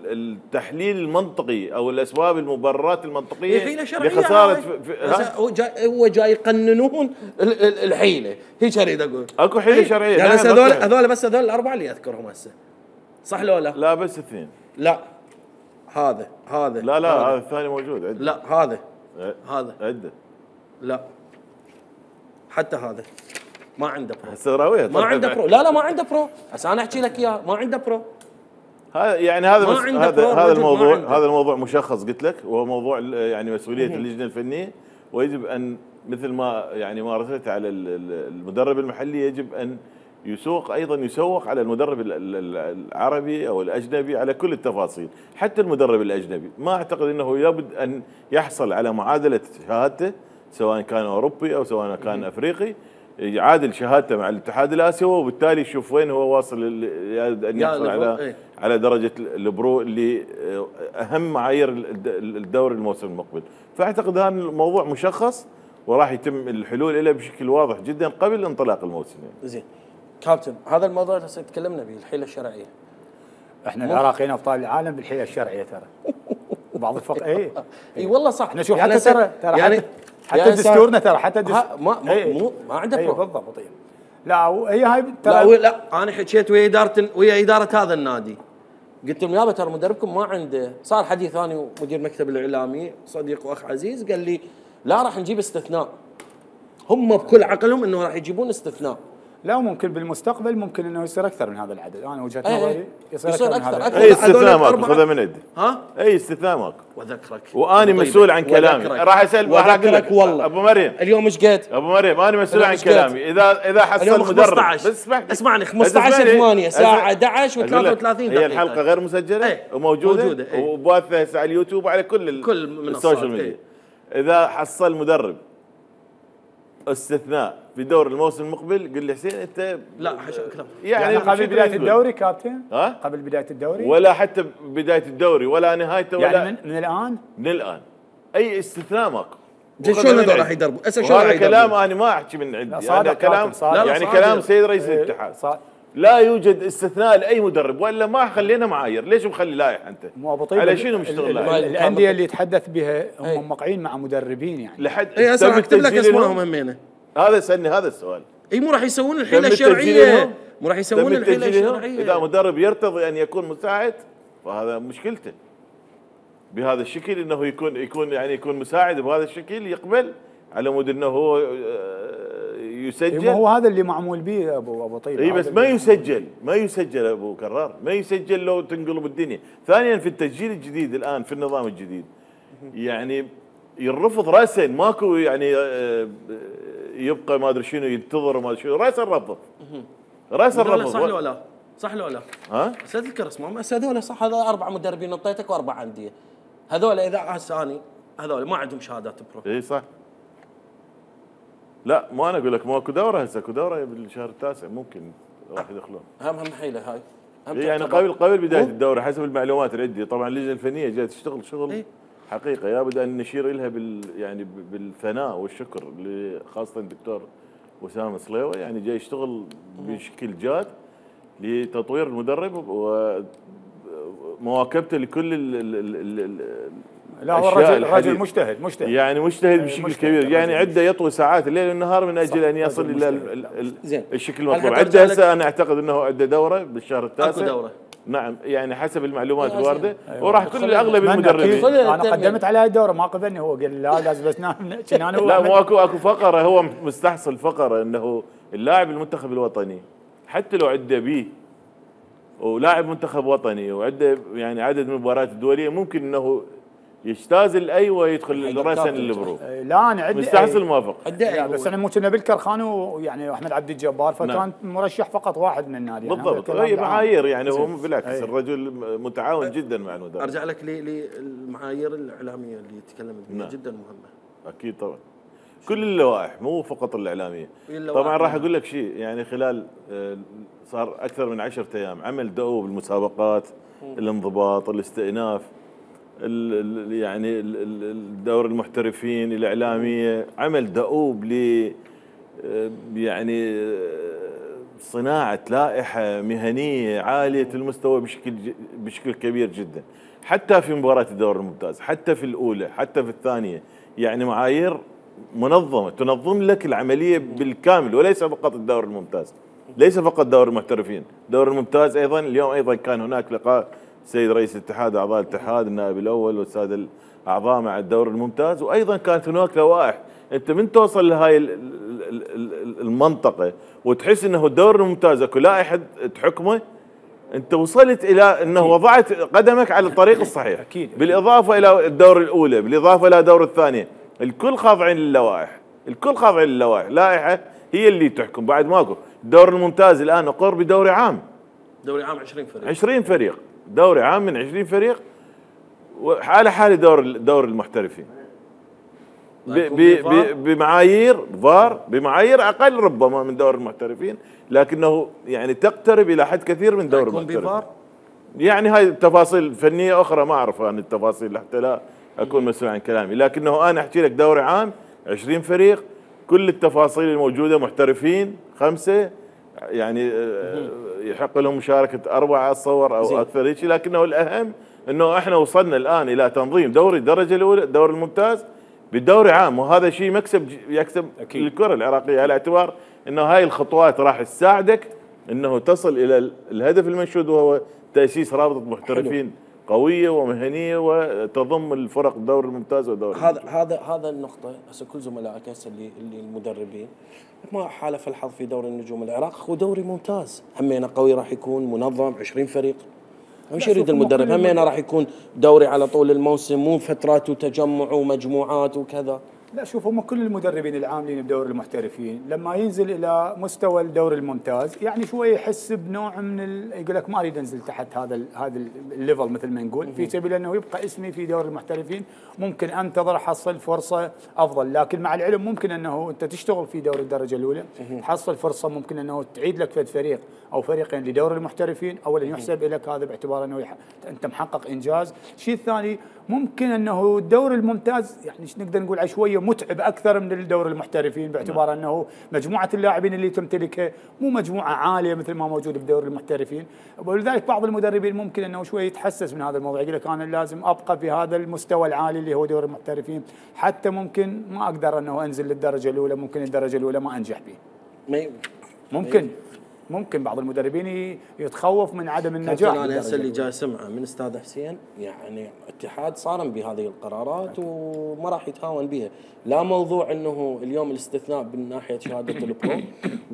التحليل المنطقي او الاسباب المبررات المنطقيه لخساره. هو جاي يقننون الحيله، هيك اريد اقول. اكو حيله شرعيه يعني هذول بس هذول الاربعه اللي اذكرهم هسه، صح لو لا؟ لا بس اثنين. لا هذا لا هذا الثاني موجود عندي. لا هذا عده. لا حتى هذا ما عنده برو. السراويه ما عنده برو. لا ما عنده برو، هسه انا احكي لك اياه، ما عنده برو. هذا يعني هذا الموضوع مشخص قلت لك، وهو موضوع يعني مسؤوليه اللجنه الفنيه، ويجب ان مثل ما يعني مارست على المدرب المحلي، يجب ان يسوق على المدرب العربي او الاجنبي على كل التفاصيل. حتى المدرب الاجنبي ما اعتقد انه لابد ان يحصل على معادله شهادته، سواء كان اوروبي او سواء كان افريقي، يعادل شهادته مع الاتحاد الاسيوي، وبالتالي يشوف وين هو واصل ان يحصل على درجه البرو اللي اهم معايير الدوري الموسم المقبل. فاعتقد هذا الموضوع مشخص وراح يتم الحلول له بشكل واضح جدا قبل انطلاق الموسم. زين كابتن، هذا الموضوع اللي تكلمنا به، الحيله الشرعيه. احنا العراقيين ابطال العالم بالحيله الشرعيه ترى. بعض الفرق اي والله صح. احنا شوف حتى ترى يعني حتى دستورنا ترى حتى ما عنده برو بالضبط. لا هي هاي ترى. لا انا حكيت ويا اداره هذا النادي، قلت لهم يابا ترى مدربكم ما عنده. صار حديث ثاني ومدير مكتب الاعلامي صديق واخ عزيز قال لي لا راح نجيب استثناء. هم بكل عقلهم انه راح يجيبون استثناء. لا ممكن بالمستقبل ممكن انه يصير اكثر من هذا العدد. انا وجهه نظري يصير اكثر من هذا. اي استثناء ماكو، خذها من عندي. اي استثناء ماكو. واذكرك واني مسؤول عن كلامي. راح اسال اقول لك والله ابو مريم اليوم ايش قد؟ ابو مريم انا مسؤول عن كلامي. اذا حصل مدرب بس اسمعني 15/8 الساعه 11 و33 دقيقه. هي الحلقه غير مسجله وموجوده وباثه هسه على اليوتيوب وعلى كل السوشيال ميديا. اذا حصل مدرب استثناء في دور الموسم المقبل، قل لي حسين انت لا حشو كلام يعني قبل بدايه الدوري كابتن؟ قبل بدايه الدوري ولا حتى بدايه الدوري ولا نهايته ولا يعني من الان اي استثناء ماكو. شلون هذول راح يدربوا؟ هذا كلام انا ما احكي من عندي، هذا كلام يعني كلام سيد رئيس الاتحاد. لا يوجد استثناء لاي مدرب، والا ما خلينا معايير. ليش مخلي لائحه انت؟ مو ابو طيب على شنو مشتغل؟ الانديه اللي يتحدث بها هم موقعين مع مدربين يعني لحد هسه اكتب لك اسمائهم همينه. هذا سألني هذا السؤال. اي مو راح يسوون الحيله الشرعيه، مو راح يسوون الحيله الشرعيه. اذا مدرب يرتضي ان يكون مساعد فهذا مشكلته. بهذا الشكل انه يكون مساعد بهذا الشكل، يقبل على مود انه هو يسجل. هو هذا اللي معمول به ابو طيب. اي بس ما يسجل ابو كرار، ما يسجل لو تنقلب الدنيا. ثانيا في التسجيل الجديد الان في النظام الجديد يعني يرفض راسا، ماكو يعني يبقى ما ادري شنو ينتظر وما ادري شنو، راسا الرفض. صح لو لا؟ بس اذكر اسمهم هذول صح. هذول 4 مدربين نطيتك و4 انديه. هذول اذا هسه اني هذول ما عندهم شهادات برو. اي صح. لا ما انا اقول لك ماكو دوره هسه، اكو دوره بالشهر التاسع ممكن راح يدخلون. هم حيله هاي. يعني قبل بدايه الدوره حسب المعلومات اللي عندي. طبعا اللجنه الفنيه جايه تشتغل شغل حقيقه، لابد ان نشير لها يعني بالثناء والشكر، خاصه الدكتور وسام صليوه يعني جاي يشتغل بشكل جاد لتطوير المدرب ومواكبته لكل لا هو الرجل مجتهد يعني مجتهد بشكل كبير، يعني عنده يطوي ساعات الليل والنهار من اجل ان يصل الى الشكل المطلوب. عنده هسه انا اعتقد انه عنده دوره بالشهر التاسع. اكو دوره. نعم يعني حسب المعلومات الوارده. وراح كل اغلب المدربين. انا قدمت على هاي الدوره ما قبلني، هو قال لا لازم بس نام. لا مو اكو فقره، هو مستحصل فقره انه اللاعب المنتخب الوطني حتى لو عنده بيه ولاعب منتخب وطني وعنده يعني عدد من المباريات الدوليه ممكن انه يجتاز الاي ويدخل راسا للبرو. لا انا عندي مستحصل موافق. بس انا مو كنا بالكرخان ويعني احمد عبد الجبار فكان مرشح فقط واحد من النادي. بالضبط هي معايير يعني هو بالعكس الرجل متعاون جدا مع المدرب. ارجع لك للمعايير الاعلاميه اللي تكلمت بها جدا مهمه. اكيد طبعا كل اللوائح مو فقط الاعلاميه. طبعا راح اقول لك شيء يعني خلال صار اكثر من 10 ايام عمل دؤوب المسابقات، الانضباط، الاستئناف، يعني الدور المحترفين الاعلاميه، عمل دؤوب ل يعني صناعه لائحه مهنيه عاليه المستوى بشكل كبير جدا، حتى في مباراه الدور الممتاز، حتى في الاولى، حتى في الثانيه، يعني معايير منظمه تنظم لك العمليه بالكامل وليس فقط الدور الممتاز، ليس فقط دور المحترفين، دور الممتاز ايضا. اليوم ايضا كان هناك لقاء السيد رئيس الاتحاد واعضاء الاتحاد النائب الاول والساده الاعضاء مع الدور الممتاز، وايضا كانت هناك لوائح. انت من توصل لهاي المنطقه وتحس انه الدور الممتاز اكو لائحه تحكمه، انت وصلت الى انه وضعت قدمك على الطريق الصحيح. أكيد. بالاضافه الى الدور الاولى، بالاضافه الى الدور الثانيه، الكل خاضعين للوائح، الكل خاضعين للوائح، لائحه هي اللي تحكم. بعد ماكو الدور الممتاز الان اقر بدوري عام، دوري عام 20 فريق، 20 فريق، دوري عام من 20 فريق، وعلى حال دور المحترفين بمعايير فار، بمعايير اقل ربما من دور المحترفين، لكنه يعني تقترب الى حد كثير من دور المحترفين. يعني هاي تفاصيل فنيه اخرى ما اعرف عن التفاصيل حتى لا اكون مسؤول عن كلامي، لكنه انا احكي لك دوري عام 20 فريق، كل التفاصيل الموجوده، محترفين 5 يعني يحق لهم مشاركه 4 اتصور او اكثر هيك، لكنه الاهم انه احنا وصلنا الان الى تنظيم دوري الدرجه الاولى، الدوري الممتاز بالدوري عام، وهذا شيء يكسب للكره العراقيه، على اعتبار انه هاي الخطوات راح تساعدك انه تصل الى الهدف المنشود، وهو تاسيس رابطه محترفين قويه ومهنيه وتضم الفرق الدوري الممتاز والدوري هذا النقطه. هسه كل زملائك هسه اللي المدربين ما حالف الحظ في دوري النجوم العراق، هو دوري ممتاز همينه قوي، راح يكون منظم 20 فريق. مش يريد المدرب همينه راح يكون دوري على طول الموسم، مو فترات وتجمع ومجموعات وكذا. لا شوف، هم كل المدربين العاملين بدور المحترفين لما ينزل الى مستوى الدوري الممتاز يعني شوي يحس بنوع من يقول لك ما اريد انزل تحت هذا الليفل مثل ما نقول، في سبيل انه يبقى اسمي في دور المحترفين، ممكن انتظر احصل فرصه افضل. لكن مع العلم ممكن انه انت تشتغل في دور الدرجه الاولى تحصل فرصه، ممكن انه تعيد لك فد فريق او فريقين لدور المحترفين، اولا يحسب لك هذا باعتبار انه انت محقق انجاز. الشيء الثاني ممكن انه الدور الممتاز يعني نقدر نقول على شويه متعب اكثر من الدور المحترفين، باعتبار انه مجموعه اللاعبين اللي تمتلكها مو مجموعه عاليه مثل ما موجود بدور المحترفين، ولذلك بعض المدربين ممكن انه شويه يتحسس من هذا الموضوع، يقول لك انا لازم ابقى في هذا المستوى العالي اللي هو دور المحترفين، حتى ممكن ما اقدر انه انزل للدرجه الاولى، ممكن الدرجه الاولى ما انجح به. ممكن بعض المدربين يتخوف من عدم النجاح. انا هسه اللي جاي اسمعه من استاذ حسين يعني اتحاد صارم بهذه القرارات وما راح يتهاون بها، لا موضوع انه اليوم الاستثناء من ناحيه شهاده البرو،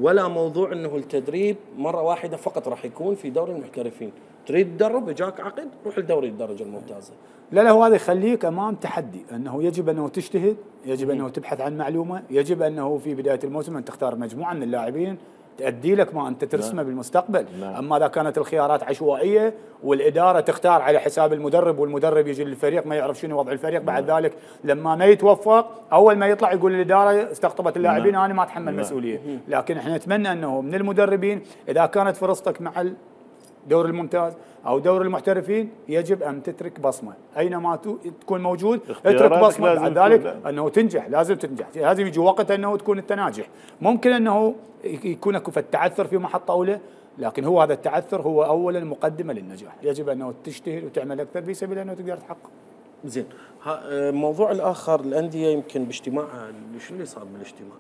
ولا موضوع انه التدريب مره واحده فقط راح يكون في دوري المحترفين. تريد تدرب جاك عقد روح لدوري الدرجه الممتازه. لا هو هذا يخليك امام تحدي، انه يجب انه تجتهد، يجب انه تبحث عن معلومه، يجب انه في بدايه الموسم ان تختار مجموعه من اللاعبين تؤدي لك ما انت ترسمه بالمستقبل. اما اذا كانت الخيارات عشوائيه والاداره تختار على حساب المدرب، والمدرب يجي للفريق ما يعرف شنو وضع الفريق، بعد ذلك لما ما يتوفق اول ما يطلع يقول الاداره استقطبت اللاعبين انا ما اتحمل مسؤوليه. لكن احنا نتمنى انه من المدربين اذا كانت فرصتك مع الدور الممتاز او دور المحترفين يجب ان تترك بصمه، اينما تكون موجود اترك بصمه، بعد ذلك انه تنجح، لازم تنجح، لازم يجي وقت انه تكون انت ناجح. ممكن انه يكون اكو تعثر في محطه اولى، لكن هو هذا التعثر هو اولا مقدمه للنجاح، يجب انه تجتهد وتعمل اكثر في سبيل انه تقدر تحقق. زين، الموضوع الاخر الانديه يمكن باجتماعها، شو اللي صار بالاجتماع؟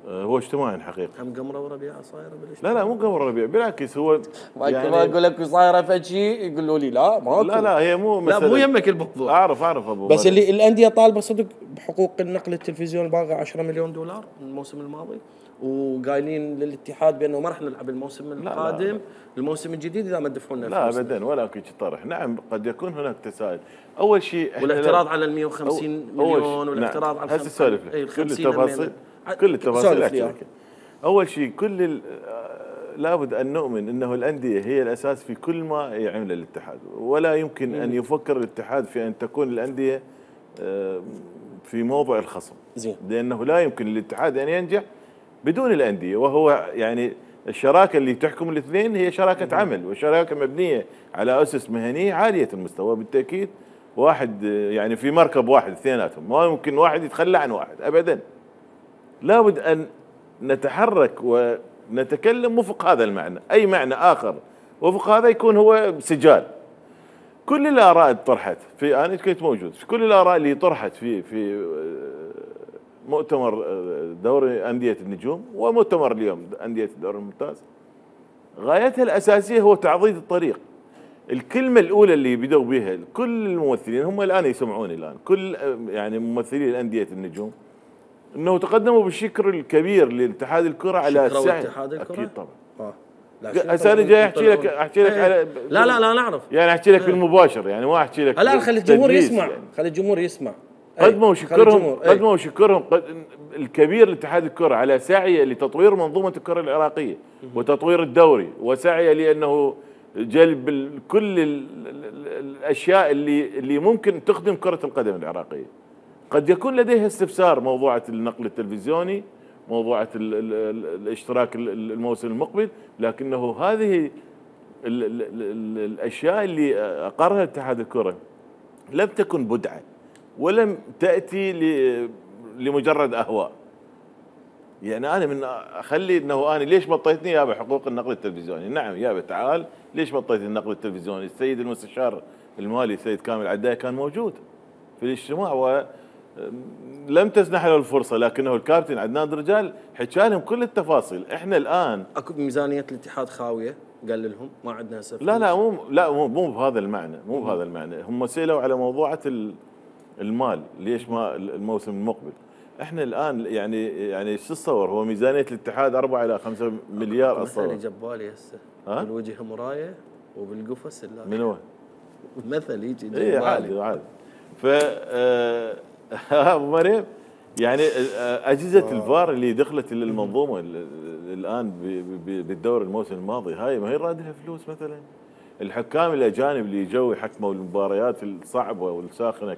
هو اجتماعي حقيقه. هم قمره وربيعه صايره بالاجتماع؟ لا مو قمر ربيع، بالعكس هو يعني ما اقول لك صايره فشي يقولوا لي لا ماكو. لا هي مو لا مو يمك الموضوع. اعرف ابو بس اللي الانديه طالبه صدق بحقوق النقل التلفزيوني باقي 10 مليون دولار من الموسم الماضي، وقايلين للاتحاد بانه ما راح نلعب الموسم القادم. لا. الموسم الجديد اذا ما دفعوا لنا لا ابدا ولا كل طرح. نعم قد يكون هناك تساؤل. اول شيء والاعتراض على ال 150 مليون والاعتراض على هسه السالفه كل التفاصيل كل التفاصيل. اول شيء لابد ان نؤمن انه الانديه هي الاساس في كل ما يعمل الاتحاد، ولا يمكن ان يفكر الاتحاد في ان تكون الانديه في موضع الخصم. زين. لانه لا يمكن للاتحاد ان ينجح بدون الانديه، وهو يعني الشراكه اللي تحكم الاثنين هي شراكه عمل، وشراكه مبنيه على اسس مهنيه عاليه المستوى. بالتاكيد واحد يعني في مركب واحد اثنيناتهم، ما يمكن واحد يتخلى عن واحد ابدا. لابد ان نتحرك ونتكلم وفق هذا المعنى، اي معنى اخر وفق هذا يكون هو سجال. كل الاراء طرحت انا كنت موجود في كل الاراء اللي طرحت في مؤتمر دوري انديه النجوم ومؤتمر اليوم انديه الدوري الممتاز، غايتها الاساسيه هو تعضيد الطريق. الكلمه الاولى اللي بدوا بها كل الممثلين، هم الان يسمعوني الان كل يعني ممثلي انديه النجوم، انه تقدموا بالشكر الكبير لاتحاد الكره على السعي. اكيد طبعا. هسه انا جاي احكي لك على لا نعرف يعني احكي لك بالمباشر، يعني ما احكي لك. الان خلي الجمهور يسمع يعني. خلي الجمهور يسمع. قدموا شكرهم الكبير لاتحاد الكره على سعيه لتطوير منظومه الكره العراقيه وتطوير الدوري، وسعيه لانه جلب كل الاشياء اللي ممكن تخدم كره القدم العراقيه. قد يكون لديها استفسار موضوعة النقل التلفزيوني، موضوعة الاشتراك الموسم المقبل، لكنه هذه الاشياء اللي اقرها اتحاد الكره لم تكن بدعه ولم تاتي لمجرد اهواء. يعني انا من اخلي انه انا ليش بطيتني يا بحقوق النقل التلفزيوني؟ نعم يا تعال ليش بطيت النقل التلفزيوني؟ السيد المستشار المالي السيد كامل عداي كان موجود في الاجتماع ولم تسنح له الفرصه، لكنه الكابتن عدنان درجال حكى لهم كل التفاصيل. احنا الان اكو ميزانيه الاتحاد خاويه، قال لهم ما عندنا هسه. لا مو بهذا المعنى، مو بهذا المعنى. هم سالوا على موضوعه المال، ليش ما الموسم المقبل؟ احنا الان يعني شو تصور؟ هو ميزانيه الاتحاد 4 إلى 5 مليار اصلا. مثل جبالي هسه بالوجه مرايه وبالقفص من وين؟ مثل يجي جبالي. عادي. ف ابو مريم يعني اجهزه الفار اللي دخلت للمنظومه الان بالدور الموسم الماضي، هاي ما هي رادها فلوس مثلا. الحكام الاجانب اللي جو يحكموا المباريات الصعبه والساخنه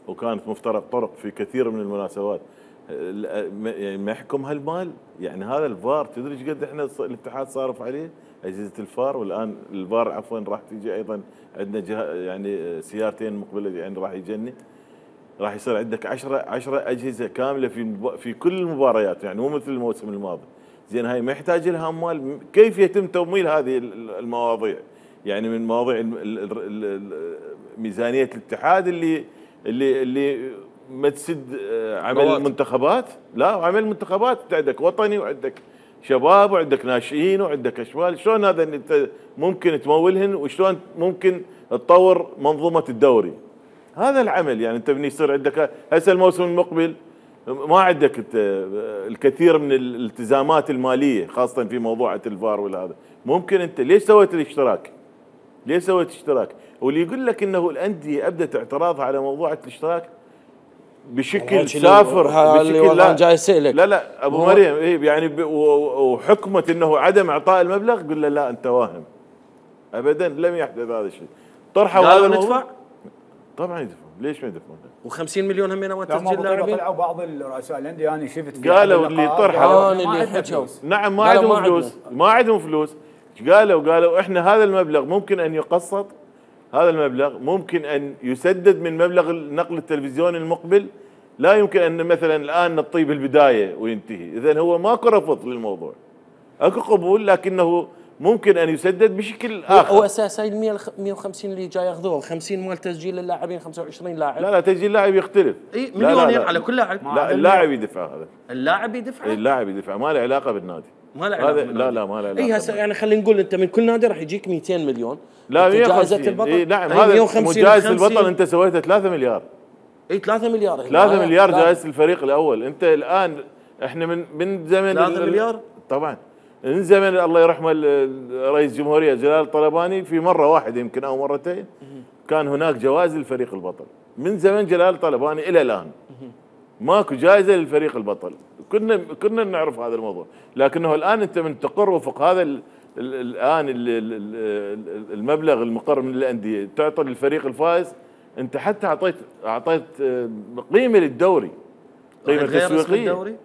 وكانت مفترق طرق في كثير من المناسبات، يعني ما يحكم هالمال. يعني هذا الفار تدري ايش قد احنا الاتحاد صارف عليه اجهزه الفار، والان الفار عفوا راح تيجي ايضا عندنا يعني سيارتين مقبله يعني راح يجني، راح يصير عندك 10 اجهزه كامله في كل المباريات، يعني مو مثل الموسم الماضي. زين هاي ما يحتاج لها اموال. كيف يتم تمويل هذه المواضيع؟ يعني من مواضيع ميزانيه الاتحاد اللي ما تسد عمل المنتخبات. لا، عمل المنتخبات عندك وطني وعندك شباب وعندك ناشئين وعندك اشبال. شلون هذا انت ممكن تمولهن وشلون ممكن تطور منظومه الدوري؟ هذا العمل. يعني انت يصير عندك هسه الموسم المقبل ما عندك الكثير من الالتزامات الماليه، خاصه في موضوع الفار والهذا. ممكن انت ليش سويت الاشتراك؟ ليش سويت اشتراك؟ واللي يقول لك انه الانديه ابدت اعتراضها على موضوع الاشتراك بشكل سافر، بشكل جاي اسالك. لا ابو مريم يعني وحكمت انه عدم اعطاء المبلغ، قل له لا انت واهم. ابدا لم يحدث هذا الشيء. طرحوا هذا ندفع؟ طبعا يدفعون، ليش ما يدفعون؟ و50 مليون همين ما تسجيل لاعبين. طلعوا بعض الرؤساء الانديه انا شفت قالوا اللي طرحوا اللي حكوا نعم ما عندهم فلوس، ما عندهم فلوس. قالوا احنا هذا المبلغ ممكن ان يقسط، هذا المبلغ ممكن ان يسدد من مبلغ النقل التلفزيوني المقبل. لا يمكن ان مثلا الان نطيب البدايه وينتهي. اذا هو ماكو رفض للموضوع، اكو قبول، لكنه ممكن ان يسدد بشكل هو اخر. اساسا ال 150 اللي جاي ياخذوه 50 مال تسجيل اللاعبين 25 لاعب. لا تسجيل لاعب يختلف. اي مليونين على كل لاعب. لا اللاعب يدفع هذا. اللاعب يدفع؟ اللاعب يدفع، ما له علاقه بالنادي. ما له علاقه بالنادي. لا ما له علاقه. اي هسه يعني خلينا نقول انت من كل نادي راح يجيك 200 مليون. لا 150 جائزه البطل. اي نعم هذا جائزه البطل انت سويتها 3 مليار. اي 3 مليار. 3 مليار جائزه الفريق الاول. انت الان احنا من زمن 3 مليار طبعا من زمن الله يرحمه رئيس الجمهوريه جلال الطلباني، في مره واحده يمكن او مرتين كان هناك جوائز للفريق البطل. من زمن جلال الطلباني الى الان ماكو جائزه للفريق البطل. كنا نعرف هذا الموضوع، لكنه الان انت من تقر وفق هذا الان المبلغ المقر من الانديه تعطي للفريق الفائز. انت حتى اعطيت قيمه للدوري، قيمه تسويقيه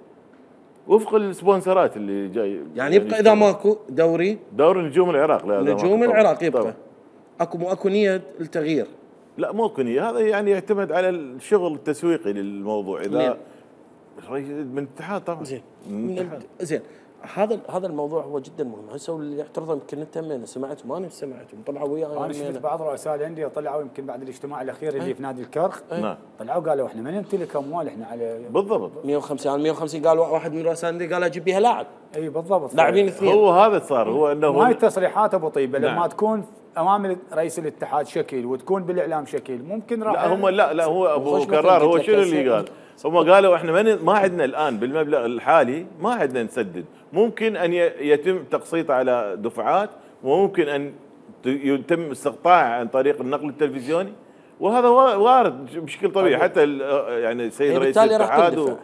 وفق السبونسرات اللي جاي. يعني يبقى اذا ماكو دوري نجوم العراق. لا نجوم العراق يبقى طبعا. اكو نيه التغيير؟ لا مو نيه، هذا يعني يعتمد على الشغل التسويقي للموضوع. اذا من الاتحاد طبعا زين هذا الموضوع هو جدا مهم. هسه اللي يعترضون يمكن انت من سمعت ما سمعتهم طلعوا وياي. انا شفت بعض رؤساء الانديه طلعوا يمكن بعد الاجتماع الاخير اللي في نادي الكرخ. نعم طلعوا قالوا احنا ما نمتلك اموال احنا على بالضبط 150 قال واحد من رؤساء الانديه قال اجيب بها لاعب. اي بالضبط لاعبين اثنين. هو هذا صار هو انه هاي التصريحات ابو طيبه نعم. لما تكون امام رئيس الاتحاد شكل وتكون بالاعلام شكل ممكن راح. لا هم لا هو ابو كرار هو شنو اللي قال؟ هم قالوا احنا ما عندنا الان بالمبلغ الحالي ما عندنا نسدد، ممكن ان يتم تقسيطه على دفعات، وممكن ان يتم استقطاعه عن طريق النقل التلفزيوني، وهذا وارد بشكل طبيعي. حتى يعني السيد رئيس الاتحاد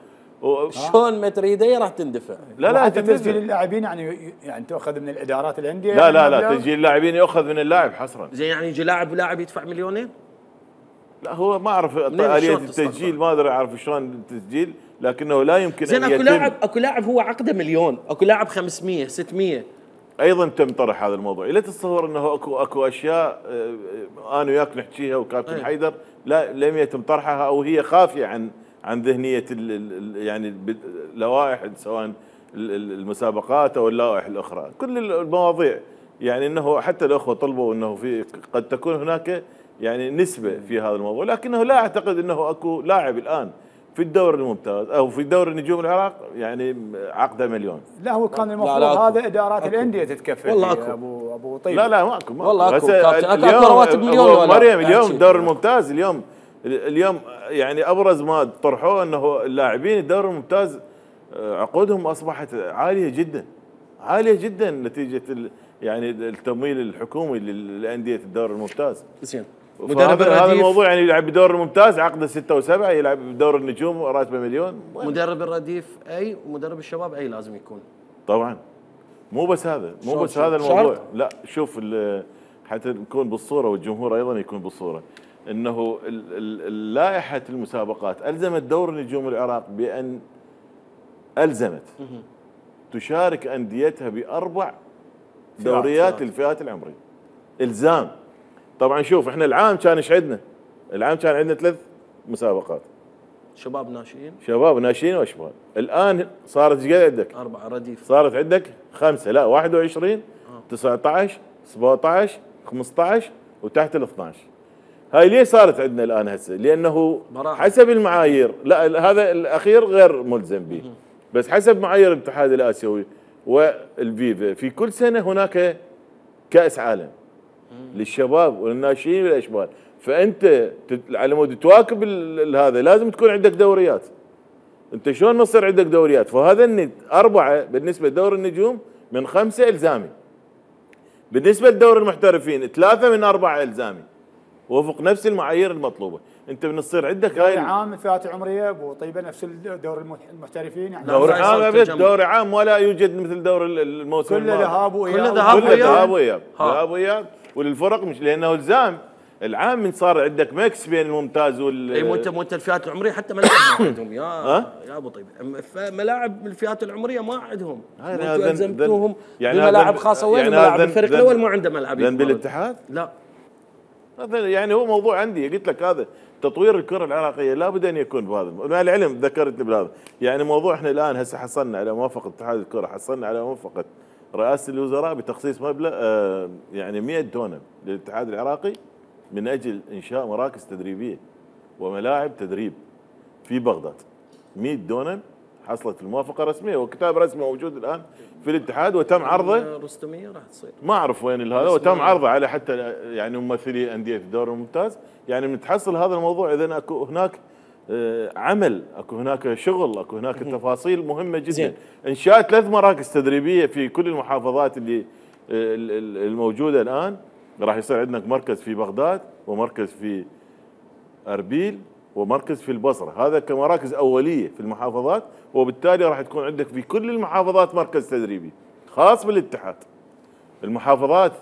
شلون ما تريده راح تندفع. لا تسجيل اللاعبين يعني تاخذ من الادارات الانديه. لا تسجيل اللاعبين ياخذ من اللاعب حصرا. زين يعني يجي لاعب يدفع مليونين؟ لا هو ما اعرف آلية التسجيل، ما ادري اعرف شلون التسجيل، لكنه لا يمكن زين اكو لاعب هو عقده مليون، اكو لاعب 500 600. ايضا تم طرح هذا الموضوع. لا تتصور انه اكو اشياء انا وياك نحكيها وكابتن حيدر لا لم يتم طرحها او هي خافيه عن ذهنيه يعني اللوائح سواء المسابقات او اللوائح الاخرى. كل المواضيع يعني انه حتى الاخوه طلبوا انه في قد تكون هناك يعني نسبه في هذا الموضوع، لكنه لا اعتقد انه اكو لاعب الان في الدوري الممتاز او في دوري نجوم العراق يعني عقده مليون. لا هو كان المفروض هذا ادارات الانديه تتكفل. والله اكو ابو طيب. لا ماكو والله اكو اكو رواتب مليون ولا مريم الدوري الممتاز اليوم يعني ابرز ما طرحوه انه اللاعبين الدوري الممتاز عقودهم اصبحت عاليه جدا نتيجه يعني التمويل الحكومي للانديه الدوري الممتاز. زين مدرب الرديف هذا الموضوع يعني يلعب بدور الممتاز عقده 6 و7، يلعب بدور النجوم راتبه مليون. مدرب الرديف اي ومدرب الشباب اي لازم يكون طبعا. مو بس هذا الموضوع. لا شوف حتى نكون بالصوره والجمهور ايضا يكون بالصوره، انه لائحه المسابقات الزمت دور نجوم العراق بان الزمت تشارك انديتها ب4 دوريات للفئات العمريه. الزام. طبعا شوف احنا العام كان ايش عندنا؟ العام كان عندنا 3 مسابقات. شباب ناشئين واشبال. الان صارت ايش قد عندك؟ 4 رديف. صارت عندك 5 لا 21 19 17 15 وتحت ال 12. هاي ليه صارت عندنا الان هسه؟ لانه حسب المعايير، لا هذا الاخير غير ملزم به، بس حسب معايير الاتحاد الاسيوي والفيفا في كل سنه هناك كاس عالم للشباب والناشئين والاشبال، فانت على مود تواكب هذا لازم تكون عندك دوريات. انت شلون ما تصير عندك دوريات؟ فهذا 4 بالنسبه لدور النجوم من 5 الزامي. بالنسبه لدور المحترفين 3 من 4 الزامي وفق نفس المعايير المطلوبه. انت بتصير عندك هاي عام الفئات العمريه ابو طيبه نفس دور المحترفين يعني دوري عام ولا يوجد مثل دور الموسم كله ذهاب واياب وللفرق مش لانه الزام. العام من صار عندك ميكس بين الممتاز اي مو انت الفئات العمريه حتى ملاعب ما عندهم يا ابو طيب، ملاعب الفئات العمريه ما عندهم. انتم الزمتوهم يعني بملاعب خاصه. وين يعني ملاعب الفريق الاول ما عنده ملعب؟ ذنب الاتحاد؟ لا هذا يعني هو موضوع عندي قلت لك هذا تطوير الكره العراقيه لابد ان يكون بهذا. مع العلم ذكرت لي بهذا يعني موضوع احنا الان هسه حصلنا على موافقه اتحاد الكره، حصلنا على موافقه رئاسه الوزراء بتخصيص مبلغ يعني 100 دونم للاتحاد العراقي من اجل انشاء مراكز تدريبيه وملاعب تدريب في بغداد. 100 دونم حصلت الموافقه رسميه وكتاب رسمي موجود الان في الاتحاد وتم عرضه. رستميه راح تصير ما اعرف وين هذا، وتم عرضه على حتى يعني ممثلي انديه الدوري الممتاز. يعني متحصل هذا الموضوع اذا اكو هناك عمل، اكو هناك شغل، اكو هناك تفاصيل مهمه جدا. زين. انشاء 3 مراكز تدريبيه في كل المحافظات اللي الموجوده الان. راح يصير عندنا مركز في بغداد ومركز في اربيل ومركز في البصره، هذا كمراكز اوليه في المحافظات، وبالتالي راح تكون عندك في كل المحافظات مركز تدريبي خاص بالاتحاد. المحافظات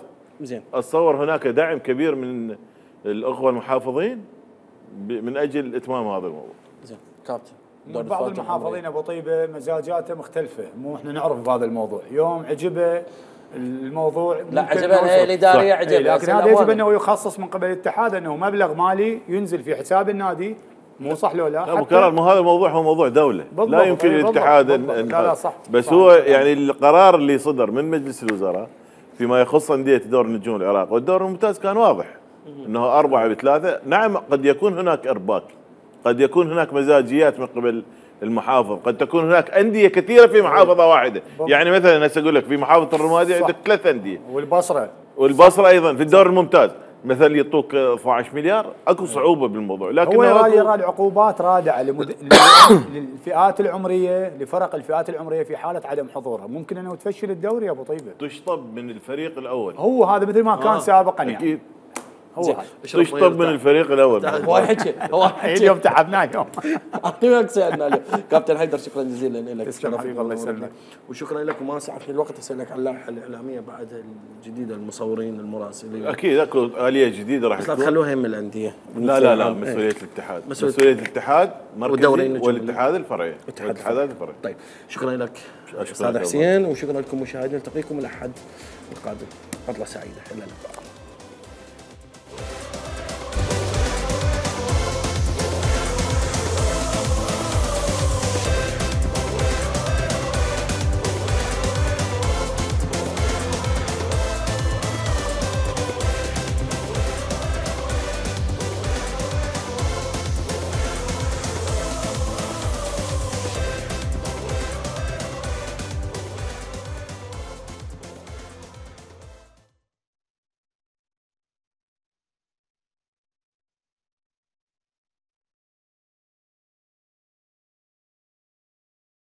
زين اتصور هناك دعم كبير من الاخوه المحافظين من اجل اتمام هذا الموضوع. زين كابتن، بعض المحافظين ابو طيبه مزاجاته مختلفه، مو احنا نعرف بهذا الموضوع، يوم عجبه الموضوع لا عجبها الهيئه الاداريه عجبها، لكن هذا يجب انه يخصص من قبل الاتحاد انه مبلغ مالي ينزل في حساب النادي، مو صح لو لا؟ لا مكرر، هذا الموضوع هو موضوع دوله، لا يمكن للاتحاد لا صح بس صح هو صح يعني القرار اللي صدر من مجلس الوزراء فيما يخص انديه دوري النجوم العراق والدوري الممتاز كان واضح انه 4-3. نعم قد يكون هناك ارباك، قد يكون هناك مزاجيات من قبل المحافظ، قد تكون هناك انديه كثيره في محافظه واحده. يعني مثلا هسه اقول لك في محافظه الرمادي عندك 3 انديه، والبصره ايضا في الدوري الممتاز مثلا يعطوك 12 مليار، اكو صعوبه بالموضوع. لكن هو يرى عقوبات رادعه للفئات العمريه، لفرق الفئات العمريه في حاله عدم حضورها، ممكن انه تفشل الدوري يا ابو طيبه. تشطب من الفريق الاول، هو هذا مثل ما كان سابقا يعني. اكيد هو تشطب من الفريق الاول. هو حكي اليوم تعبنا اليوم. اعطيك سالنا اليوم. كابتن حيدر شكرا جزيلا لك. تسلم حبيبي، الله يسلمك. وشكرا لك، وما سعفني الوقت اسالك عن اللائحه الاعلاميه بعد الجديده، المصورين المراسلين. اكيد اكو اليه جديده راح تكون، بس لا تخلوها هم الانديه. لا مسؤوليه الاتحاد، مسؤوليه الاتحاد مركزي والاتحاد الفرعي والاتحادات الفرعيه. طيب شكرا لك استاذ حسين، وشكرا لكم مشاهدينا، نلتقيكم الاحد القادم. عطله سعيده، الى اللقاء.